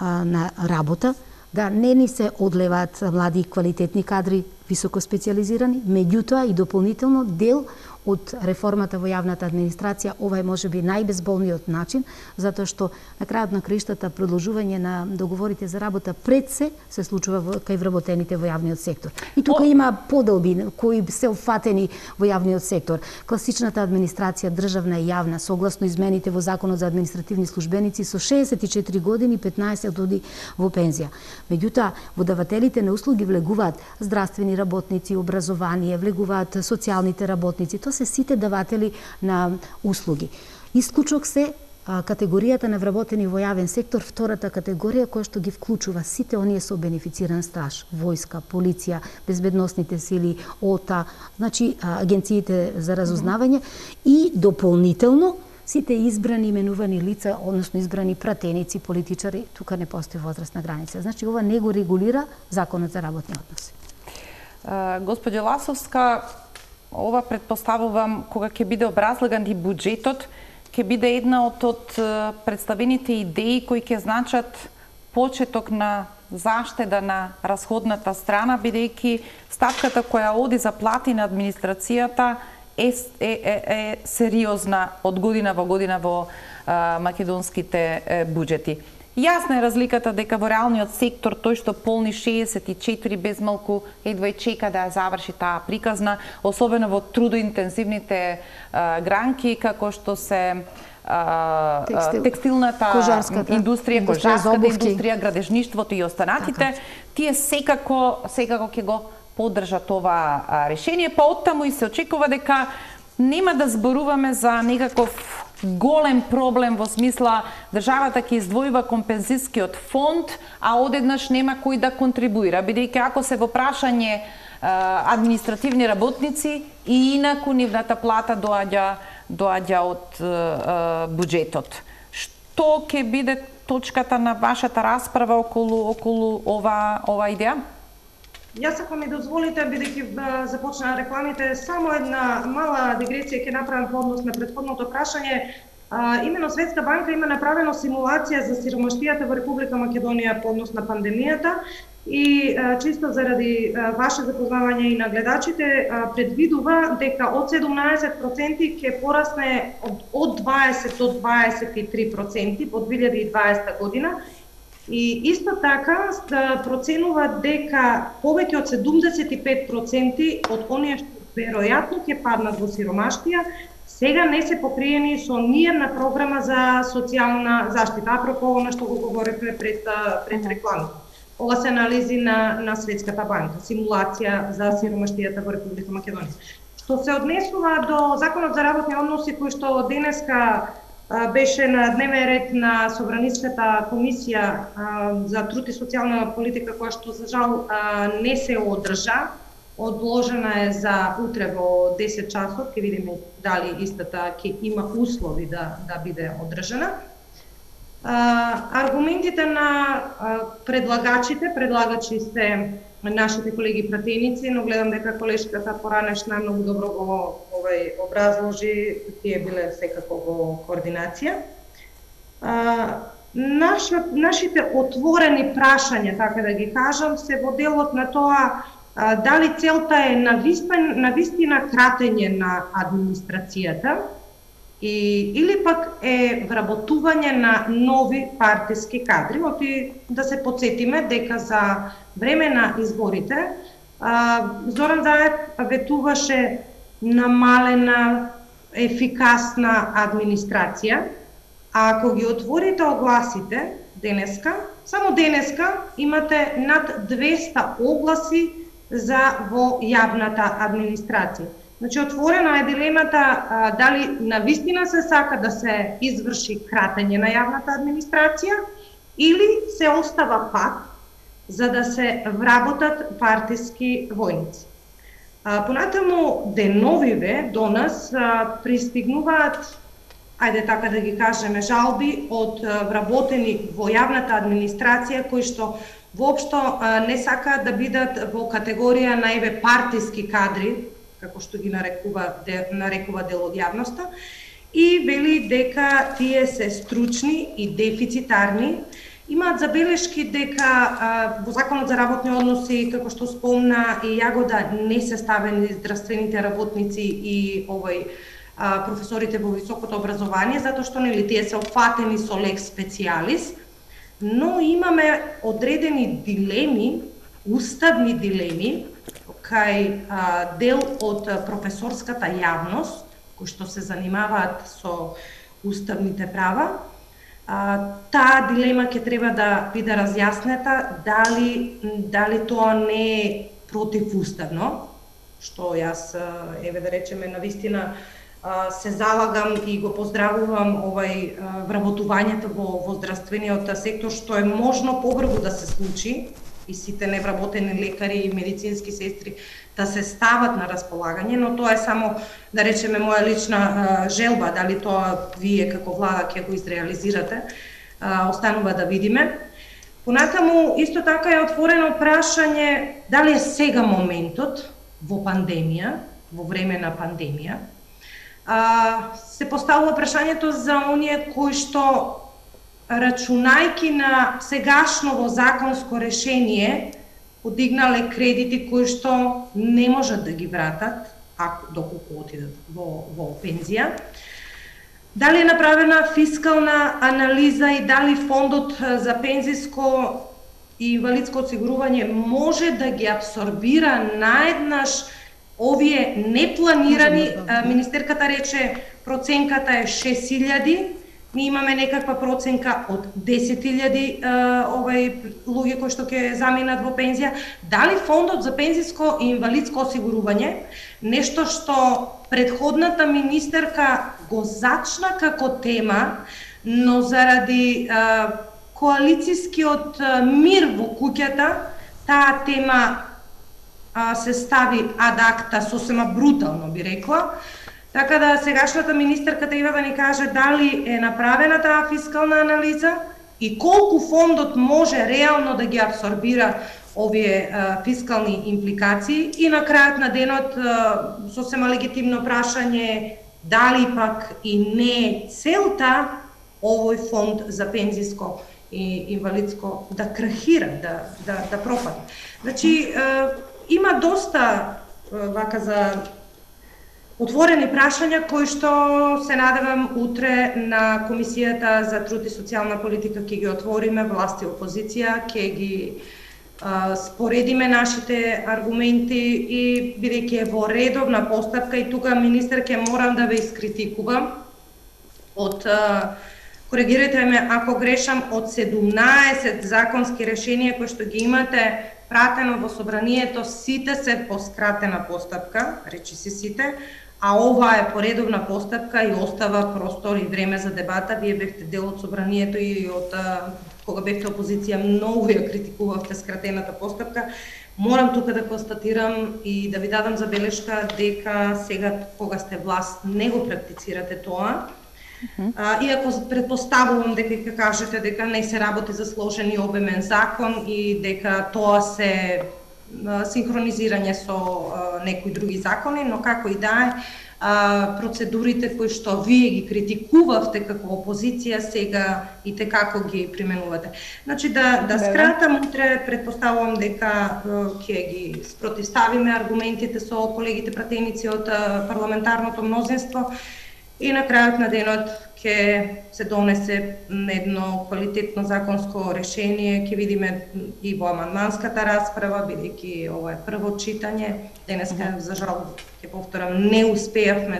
на работа, да не ни се одлеваат млади квалитетни кадри, високо специализирани, меѓутоа и дополнително дел од реформата во јавната администрација, ова е можеби најбезболниот начин, затоа што на крајот на краиштата продолжување на договорите за работа пред се случува кај вработените во јавниот сектор. И тука има поделби кои се опфатени во јавниот сектор. Класичната администрација, државна и јавна, согласно измените во Законот за административни службеници, со 64 години 15 оди во пензија. Меѓутоа, во давателите на услуги влегуваат здравствени работници, образование, влегуваат социјалните работници, тоа се сите даватели на услуги. Исклучок се категоријата на вработени во јавен сектор, втората категорија која што ги вклучува сите оние со бенефициран стаж, војска, полиција, безбедносните сили, ОТА, значи агенциите за разузнавање и дополнително сите избрани именувани лица, односно избрани пратеници, политичари, тука не постои возрастна граница. Значи ова не го регулира Законот за работни односи. Господјо Ласовска, ова предпоставувам кога ќе биде образлаган и буџетот, ќе биде една од представените идеи кои ќе значат почеток на заштеда на расходната страна, бидејќи ставката која оди за плати на администрацијата е сериозна од година во година во македонските буџети. Јасна е разликата дека во реалниот сектор тој што полни 64 без малку едва и чека да ја заврши таа приказна, особено во трудоинтензивните гранки како што се текстилната индустрија, кожарската индустрија, градежништвото и останатите, тие секако ќе го поддржат ова решение, па оттаму и се очекува дека нема да зборуваме за некаков голем проблем во смисла државата ќе издвојува компензискиот фонд, а одеднаш нема кој да контрибуира, бидејќи ако се во прашање административни работници и инаку нивната плата доаѓа од буџетот. Што ќе биде точката на вашата расправа околу ова идеја? Јас, ако ми дозволите, бидејќи започнаа рекламите, само една мала дигресија ќе направам по однос на претходното прашање. Имено Светска банка има направено симулација за сиромаштијата во Република Македонија по однос на пандемијата и чисто заради ваше запознавање и на гледачите предвидува дека од 17% ќе порасне од 20 до 23% во 2020 година. И исто така проценува дека повеќе од 75% од оние што веројатно ќе паднат во сиромаштија, сега не се покриени со ниедна програма за социјална заштита, апропо она што го говоревме пред рекламата. Ова се анализи на Светската банка, симулација за сиромаштијата во Република Македонија. Што се однесува до Законот за работни односи, кој што денеска беше на дневен ред на Собраниската комисија за труд и социјална политика, која што за жал не се одржа, одложена е за утре во 10 часот, ќе видиме дали истата ќе има услови да биде одржана. Аргументите на предлагачи се нашите колеги пратеници, но гледам дека колешката поранешна многу добро го образложи, тие биле секако во координација. Нашите отворени прашања, така да ги кажам, се во делот на тоа дали целта е навистина кратење на администрацијата или пак е вработување на нови партиски кадри. Оти да се подсетиме дека за време на изборите Зоран Заев ветуваше намалена ефикасна администрација, а ако ги отворите огласите денеска, само денеска имате над 200 огласи за во јавната администрација. Значи, отворена е дилемата дали навистина се сака да се изврши кратење на јавната администрација или се остава пат за да се вработат партиски војници. Понатаму деновиве до нас пристигнуваат, ајде така да ги кажеме, жалби од вработени во јавната администрација кои што воопшто не сакаат да бидат во категорија наиве партиски кадри, како што ги нарекува дел од јавноста, и вели дека тие се стручни и дефицитарни имаат забелешки дека во Законот за работни односи, како што спомна и Јагода, не се ставени здравствените работници и професорите во високото образование, затоа што нели тие се опфатени со лекс специјалис, но имаме одредени дилеми, уставни дилеми, кај дел од професорската јавност, кои што се занимаваат со уставните права. Таа дилема ќе треба да биде разјаснета, дали тоа не е противуставно, што јас, да речеме, навистина се залагам и го поздравувам вработувањето во здравствениот сектор, што е можно побрзо да се случи и сите невработени лекари и медицински сестри да се стават на располагање, но тоа е само, да речеме, моја лична желба, дали тоа вие како влада ќе го изреализирате, останува да видиме. Понатаму, исто така е отворено прашање дали е сега моментот во пандемија, во време на пандемија, се поставува прашањето за оние кои што, рачунајки на сегашново законско решение, подигнале кредити кои што не можат да ги вратат, доколку отидат во пензија. Дали е направена фискална анализа и дали фондот за пензиско и инвалидско осигурување може да ги абсорбира наеднаш овие непланирани, министерката рече проценката е 6.000, ние имаме некаква проценка од 10.000 луѓе кои што ќе заминат во пензија. Дали фондот за пензиско и инвалидско осигурување, нешто што претходната министерка го зачна како тема, но заради коалицискиот мир во куќата, таа тема се стави ад акта, сосема брутално би рекла. Така да сегашната министерка треба да ни каже дали е направена таа фискална анализа и колку фондот може реално да ги абсорбира овие фискални импликации. И на крајот на денот сосема легитимно прашање дали пак и не целта овој фонд за пензиско и инвалидско да крахира, да пропадне. Значи, има доста вака за отворени прашања кои што се надевам утре на Комисијата за труд и социјална политика ќе ги отвориме, власт и опозиција, ќе ги споредиме нашите аргументи и бидејќи е во редовна постапка и тука министер ќе морам да ве искритикувам од коригирате ме ако грешам, од 17 законски решенија кои што ги имате пратено во собранието, сите се по скратена постапка, речи се сите, а ова е поредовна постапка и остава простор и време за дебата. Вие бевте дел од собранието и од кога бевте опозиција многу ја критикувавте скратената постапка. Морам тука да констатирам и да ви дадам забелешка дека сега кога сте власт не го практицирате тоа. Иако предпоставувам дека ќе кажете дека не се работи за сложен и обемен закон и дека тоа се синхронизирање со некои други закони, но како и да е, процедурите кои што вие ги критикувавте како опозиција сега и како ги применувате. Значи да скратам, утре предпоставувам дека ќе ги спротивставиме аргументите со колегите пратеници од парламентарното мнозинство и на крајот на денот ќе се донесе едно квалитетно законско решение, ќе видиме и во амандманската расправа, бидејќи ова е прво читање. Денеска, за жал, ќе повторам, не успеавме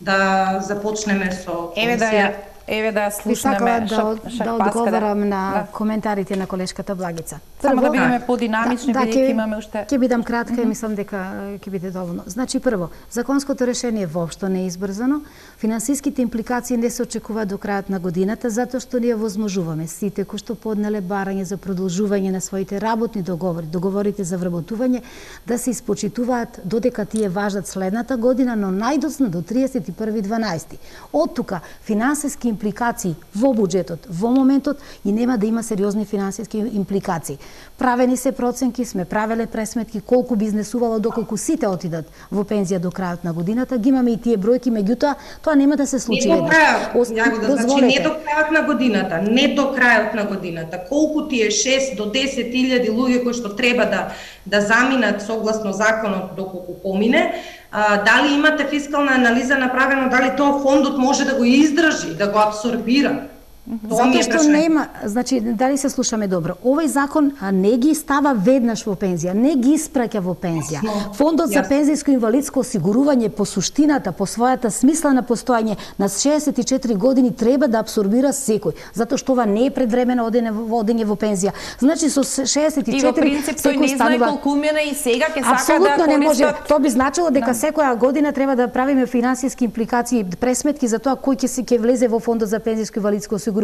да започнеме со комисија. Еве да слушнеме да одговорам на коментарите на колешката Благица. Само да бидеме подинамични, бидејќи имаме уште... Ќе бидам кратка и мислам дека ќе биде доволно. Значи, прво, законското решение воопшто не е избрзано, финансиските импликации не се очекуваат до крајот на годината, затоа што ние возможуваме сите кои што поднеле барање за продолжување на своите работни договорите за вработување, да се испочитуваат додека тие важат следната година, но најдоцна до 31.12. Од тука, финансиски импликации во буџетот, во моментот и нема да има сериозни финансиски импликации. Правени се проценки, сме правеле пресметки колку би изнесувало доколку сите отидат во пензија до крајот на годината, ги имаме и тие бројки, меѓутоа тоа нема да се случи веднаш. Значи не до крајот на годината, не до крајот на годината. Колку тие 6 до 10.000 луѓе кои што треба да заминат согласно законот доколку помине, дали имате фискална анализа направено, дали тоа фондот може да го издржи, да го апсорбира? Затоа што нема, значи дали се слушаме добро. Овој закон не ги става веднаш во пензија, не ги испраќа во пензија. Фондот за пензијско инвалидско осигурување по суштината, по својата смисла на постојање на 64 години треба да апсорбира секој, затоа што ова не е предвремено одење во пензија. Значи со 64 и во принцип тој не знае колку умине и сега ќе сака да апсолутно не може. Тоа би значило дека секоја година треба да правиме финансиски импликации, пресметки за тоа кој ќе влезе во фондот за пензијско инвалидско осигурување.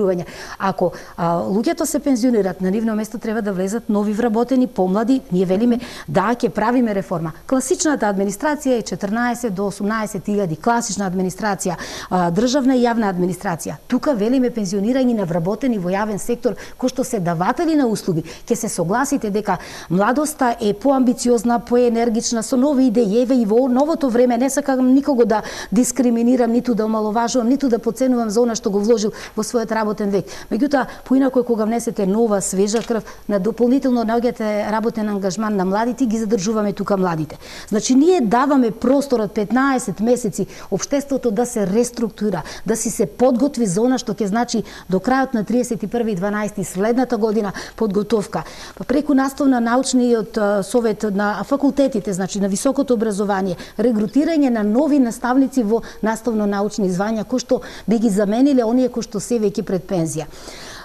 Ако луѓето се пензионираат, на нивно место треба да влезат нови вработени, помлади, ние велиме да ќе правиме реформа. Класичната администрација е 14 до 18.000, класична администрација, државна и јавна администрација. Тука велиме пензионирање на вработени во јавен сектор кои што се даватели на услуги. Ќе се согласите дека младоста е поамбициозна, поенергична, со нови идеи и во новото време не сакам никого да дискриминирам, ниту да омаловажувам, ниту да потценувам за она што го вложил во својот работен век. Меѓутоа, поинако кога внесете нова, свежа крв, на дополнително наоѓате работен ангажман на младите, ги задржуваме тука младите. Значи, ние даваме простор од 15 месеци општеството да се реструктура, да си се подготви за она што ќе значи до крајот на 31.12. следната година подготовка. Преку наставна научниот совет на факултетите, значи на високото образование, регрутирање на нови наставници во наставно-научни звања, кои што би ги замениле оние кои што се веќе пред пензија.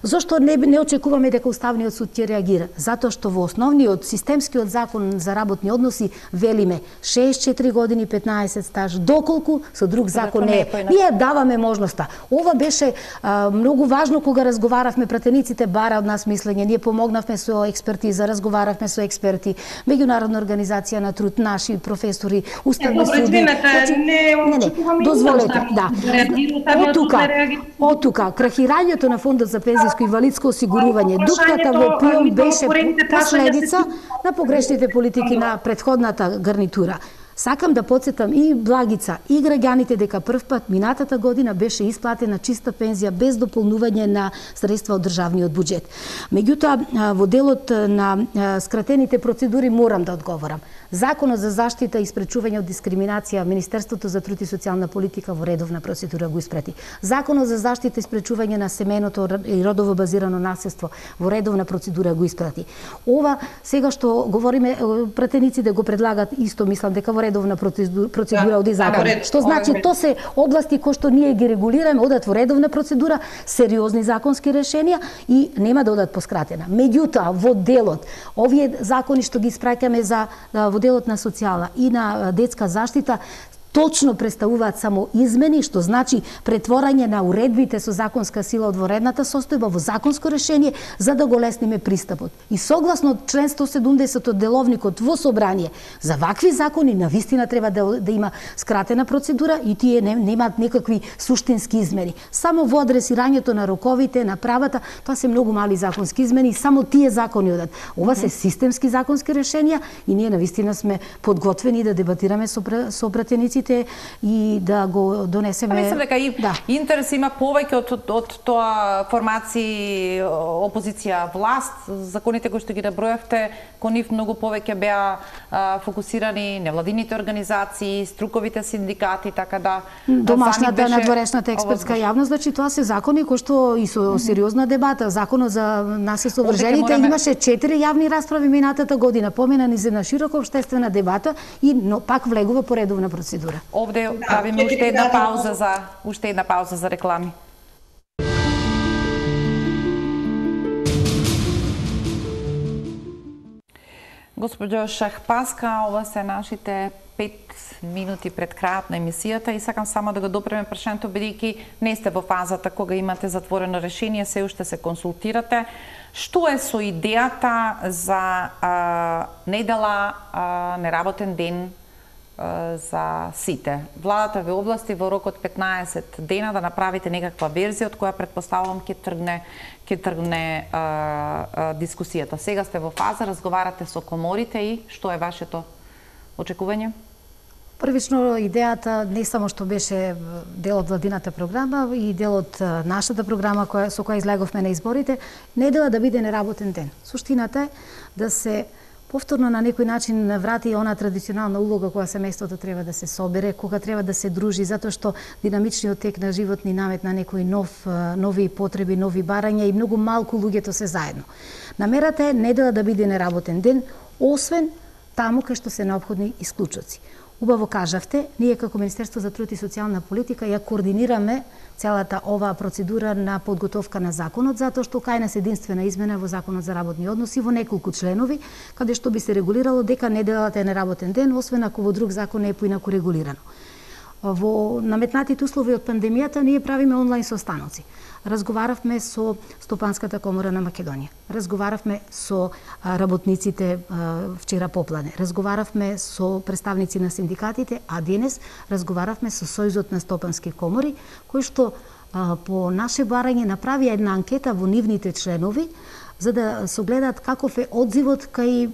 Зошто не очекуваме дека Уставниот суд ќе реагира? Затоа што во основниот системскиот закон за работни односи велиме 64 години 15 стаж, доколку со друг закон не е. Ние даваме можноста. Ова беше многу важно кога разговаравме, пратениците бара од нас мислење, ние помогнавме со експертиза, разговаравме со експерти, меѓународна организација на труд, наши професори, уставни суди. Дозволете, да. Од тука, крахирањето на фондот за пензијско инвалидско осигурување, дупката во ПИОМ беше последица на погрешните политики на претходната гарнитура. Сакам да потсетам и Благица, и граѓаните дека прв пат минатата година беше исплатена чиста пензија без дополнување на средства од државниот буџет. Меѓутоа, во делот на скратените процедури морам да одговорам. Законот за заштита и спречување од дискриминација, Министерството за труд и социјална политика во редовна процедура го испрати. Законот за заштита и спречување на семејното и родово базирано наследство во редовна процедура го испрати. Ова сега што говориме, пратениците го предлагат исто, мислам дека во редовна процедура оди закон. Што значи тоа се области кои што ние ги регулираме, одат во редовна процедура, сериозни законски решенија и нема да одат поскратена. Меѓутоа, во делот, овие закони што ги испраќаме за во делот на социјала и на детска заштита, точно представуваат само измени, што значи претворање на уредбите со законска сила од воредната состојба во законско решение за да го лесниме пристапот. И согласно член 170 од деловникот во собрание, за вакви закони навистина треба да има скратена процедура и тие немаат некакви суштински измени. Само во адресирањето на роковите, на правата, тоа се многу мали законски измени и само тие закони одат. Ова се системски законски решенија и ние навистина сме подготвени да дебатираме со пратеници и да го донесеме. Мислам дека и интерес има повеќе од тоа формации опозиција власт. Законите кои што ги набројавте, кон нив многу повеќе беа фокусирани невладините организации, струковите синдикати, така да домашната надворешната експертска јавност, значи тоа се закони кои што и со сериозна дебата. Законот за наследство вржените имаше 4 јавни расправи минатата година, поменани за на широка општествена дебата и пак влегува по редовна процедура. Овде правиме уште една пауза за реклами. Госпоѓо Шахпаска, ова се нашите 5 минути пред крајот на емисијата и сакам само да го допреме прашањето, бидејќи не сте во фазата кога имате затворено решение, се уште се консултирате. Што е со идејата за недела, неработен ден за сите. Владата ве области во рок од 15 дена да направите некаква верзија од која предпоставувам ќе тргне дискусијата. Сега сте во фаза, разговарате со коморите и што е вашето очекување? Првично, идејата не само што беше дел од владината програма и дел од нашата програма со која излеговме на изборите, недела да биде неработен ден. Суштината е да се повторно на некој начин врати она традиционална улога која семејството треба да се собере, кога треба да се дружи, затоа што динамичниот тек на живот ни наметна некои нови потреби, нови барања и многу малку луѓето се заедно. Намерата е недела да биде неработен ден, освен таму кај што се неопходни исклучоци. Убаво кажавте, ние како Министерство за труд и социјална политика ја координираме целата оваа процедура на подготовка на законот, затоа што кај нас единствена измена во Законот за работни односи во неколку членови, каде што би се регулирало дека неделата е неработен ден, освен ако во друг закон не е поинаку регулирано. Во наметнатите услови од пандемијата ние правиме онлайн состаноци. Разговаравме со Стопанската комора на Македонија. Разговаравме со работниците вчера попладне. Разговаравме со представници на синдикатите, а денес разговаравме со Сојузот на стопански комори, кој што по наше барање направи една анкета во нивните членови за да согледаат каков е одзивот кај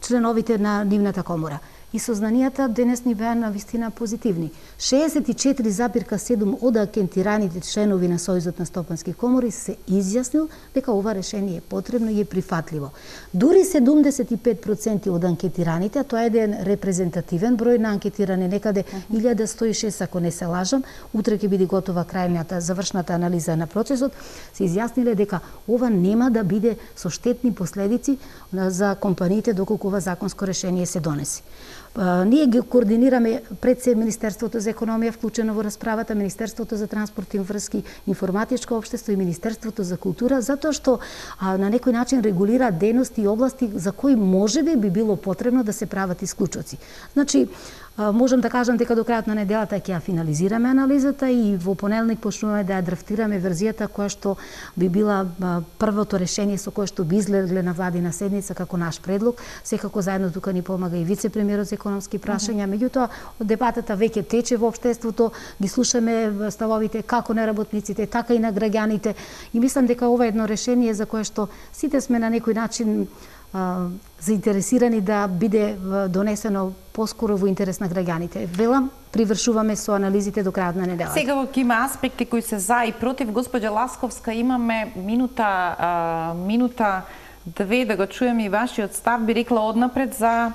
членовите на нивната комора. И сознанијата денес ни беа навистина позитивни. 64,7 од анкетираните членови на Сојузот на стопански комори се изјаснил дека ова решение е потребно и е прифатливо. Дури 75% од анкетираните, а тоа е еден репрезентативен број на анкетиране, некаде 1106 ако не се лажам, утре ќе биде готова крајната завршната анализа на процесот, се изјасниле дека ова нема да биде со штетни последици за компаниите доколку ова законско решение се донеси. Ние ги координираме пред се Министерството за економија вклучено во расправата, Министерството за транспорт и врски, информатичко општество и Министерството за култура, затоа што на некој начин регулира дејности и области за кои можеби би било потребно да се прават исклучоци. Значи, можам да кажам дека до крајот на неделата ќе ја финализираме анализата и во понеделник почнуваме да ја драфтираме верзијата која што би била првото решение со кое што би излегле на владина седница како наш предлог. Секако заедно тука ни помага и вице-премиерот за економски прашања. Меѓутоа, дебатата веќе тече во општеството, ги слушаме ставовите како на работниците, така и на граѓаните и мислам дека ова е едно решение за кое што сите сме на некој начин заинтересирани да биде донесено поскоро во интерес на граѓаните. Велам, привршуваме со анализите до крајот на неделата. Сега има аспекти кои се за и против. Госпоѓа Ласковска, имаме минута две да го чуем и вашиот став. Би рекла однапред за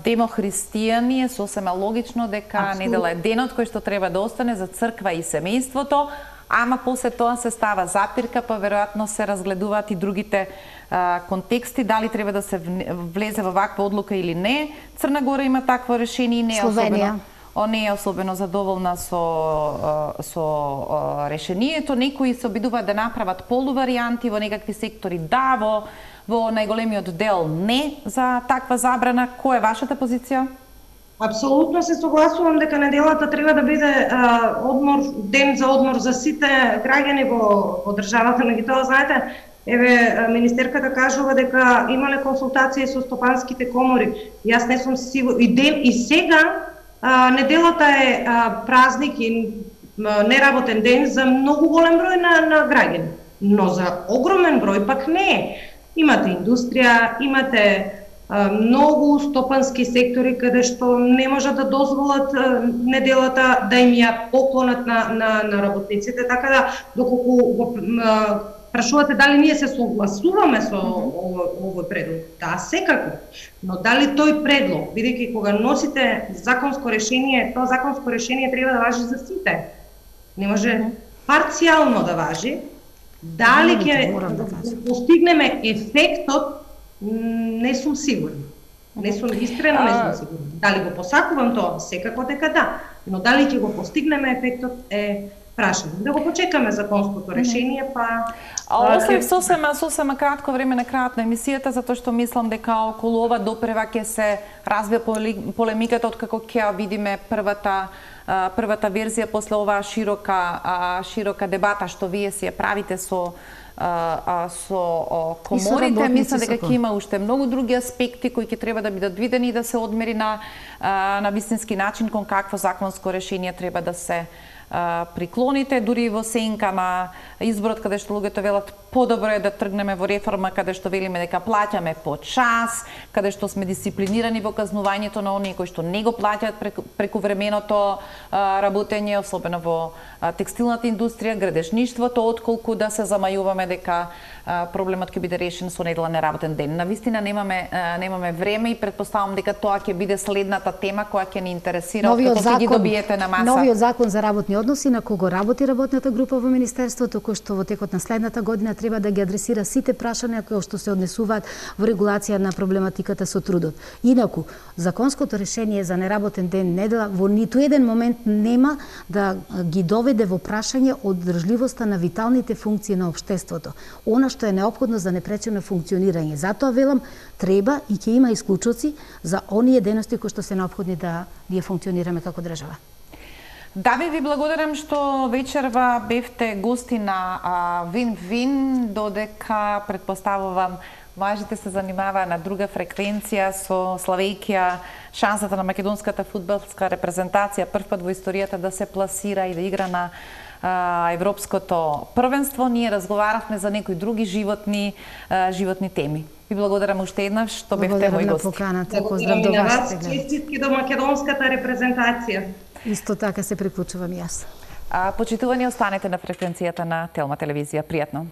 демохристијани е сосема логично дека недела е денот кој што треба да остане за црква и семејството, ама после тоа се става запирка, па веројатно се разгледуваат и другите контексти, дали треба да се влезе во ваква одлука или не. Црна Гора има такво решение и не е особено задоволна со решението. Некои се обидуваат да направат полуваријанти во некакви сектори, да, во најголемиот дел не за таква забрана. Која е вашата позиција? Апсолутно се согласувам дека неделата треба да биде ден за одмор за сите граѓани во државата, меѓутоа знаете, еве министерката кажува дека имале консултации со стопанските комори. Јас не сум сигурна и сега неделата е празник и неработен ден за многу голем број на граѓани, но за огромен број пак не е. Имате индустрија, имате многу стопански сектори каде што не можат да дозволат неделата да им ја поклонат на работниците, така да доколку прашувате дали ние се согласуваме со овој предлог, да, секако, но дали тој предлог, бидејќи кога носите законско решение, тоа законско решение треба да важи за сите, не може парцијално да важи, дали ќе постигнеме ефектот, не сум сигурна. Не сум искрено, не сум сигурна. Дали го посакувам тоа? Секако дека да. Но дали ќе го постигнеме ефектот е прашање. Да го почекаме законското решение, па... Оставив сосема кратко време на крајот на емисијата, затоа што мислам дека околу ова допрева ќе се развија полемиката откако ќе видиме првата верзија после оваа широка дебата што вие си ја правите со со коморите, мислам дека ќе има уште многу други аспекти кои ќе треба да бидат видени и да се одмери на вистински начин кон какво законско решение треба да се приклоните, дури во сенка на изборот каде што луѓето велат подобро е да тргнеме во реформа каде што велиме дека плаќаме по час, каде што сме дисциплинирани во казнувањето на оние кои што не го плаќаат преку временото работење, особено во текстилната индустрија, градежништвото, отколку да се замајуваме дека проблемот ќе биде решен со неделен неработен ден. Навистина немаме време и претпоставам дека тоа ќе биде следната тема која ќе ни интересира кога ќе ги добиете на маса. Новиот закон за работни односи на кого работи работната група во Министерството, кој што во текот на следната година треба да ги адресира сите прашања кои што се однесуваат во регулација на проблематиката со трудот. Инаку, законското решение за неработен ден, недела, во ниту еден момент нема да ги доведе во прашање одржливоста на виталните функции на општеството. Она што е неопходно за непречено функционирање. Затоа велам, треба и ќе има исклучоци за оние дејности кои што се неопходни да ние функционираме како држава. Да ви благодарам што вечерва бевте гости на Вин-Вин, додека претпоставувам важите се занимава на друга фреквенција со славејќи шансата на македонската фудбалска репрезентација прв пат во историјата да се пласира и да игра на европското првенство. Ние разговаравме за некои други животни теми. Ви благодарам уште еднаш што бевте мои гости. Поздрав до вас. Честитки до македонската репрезентација. Исто така се приклучувам и јас. Почитувани, останете на фреквенцијата на Телма телевизија. Пријатно.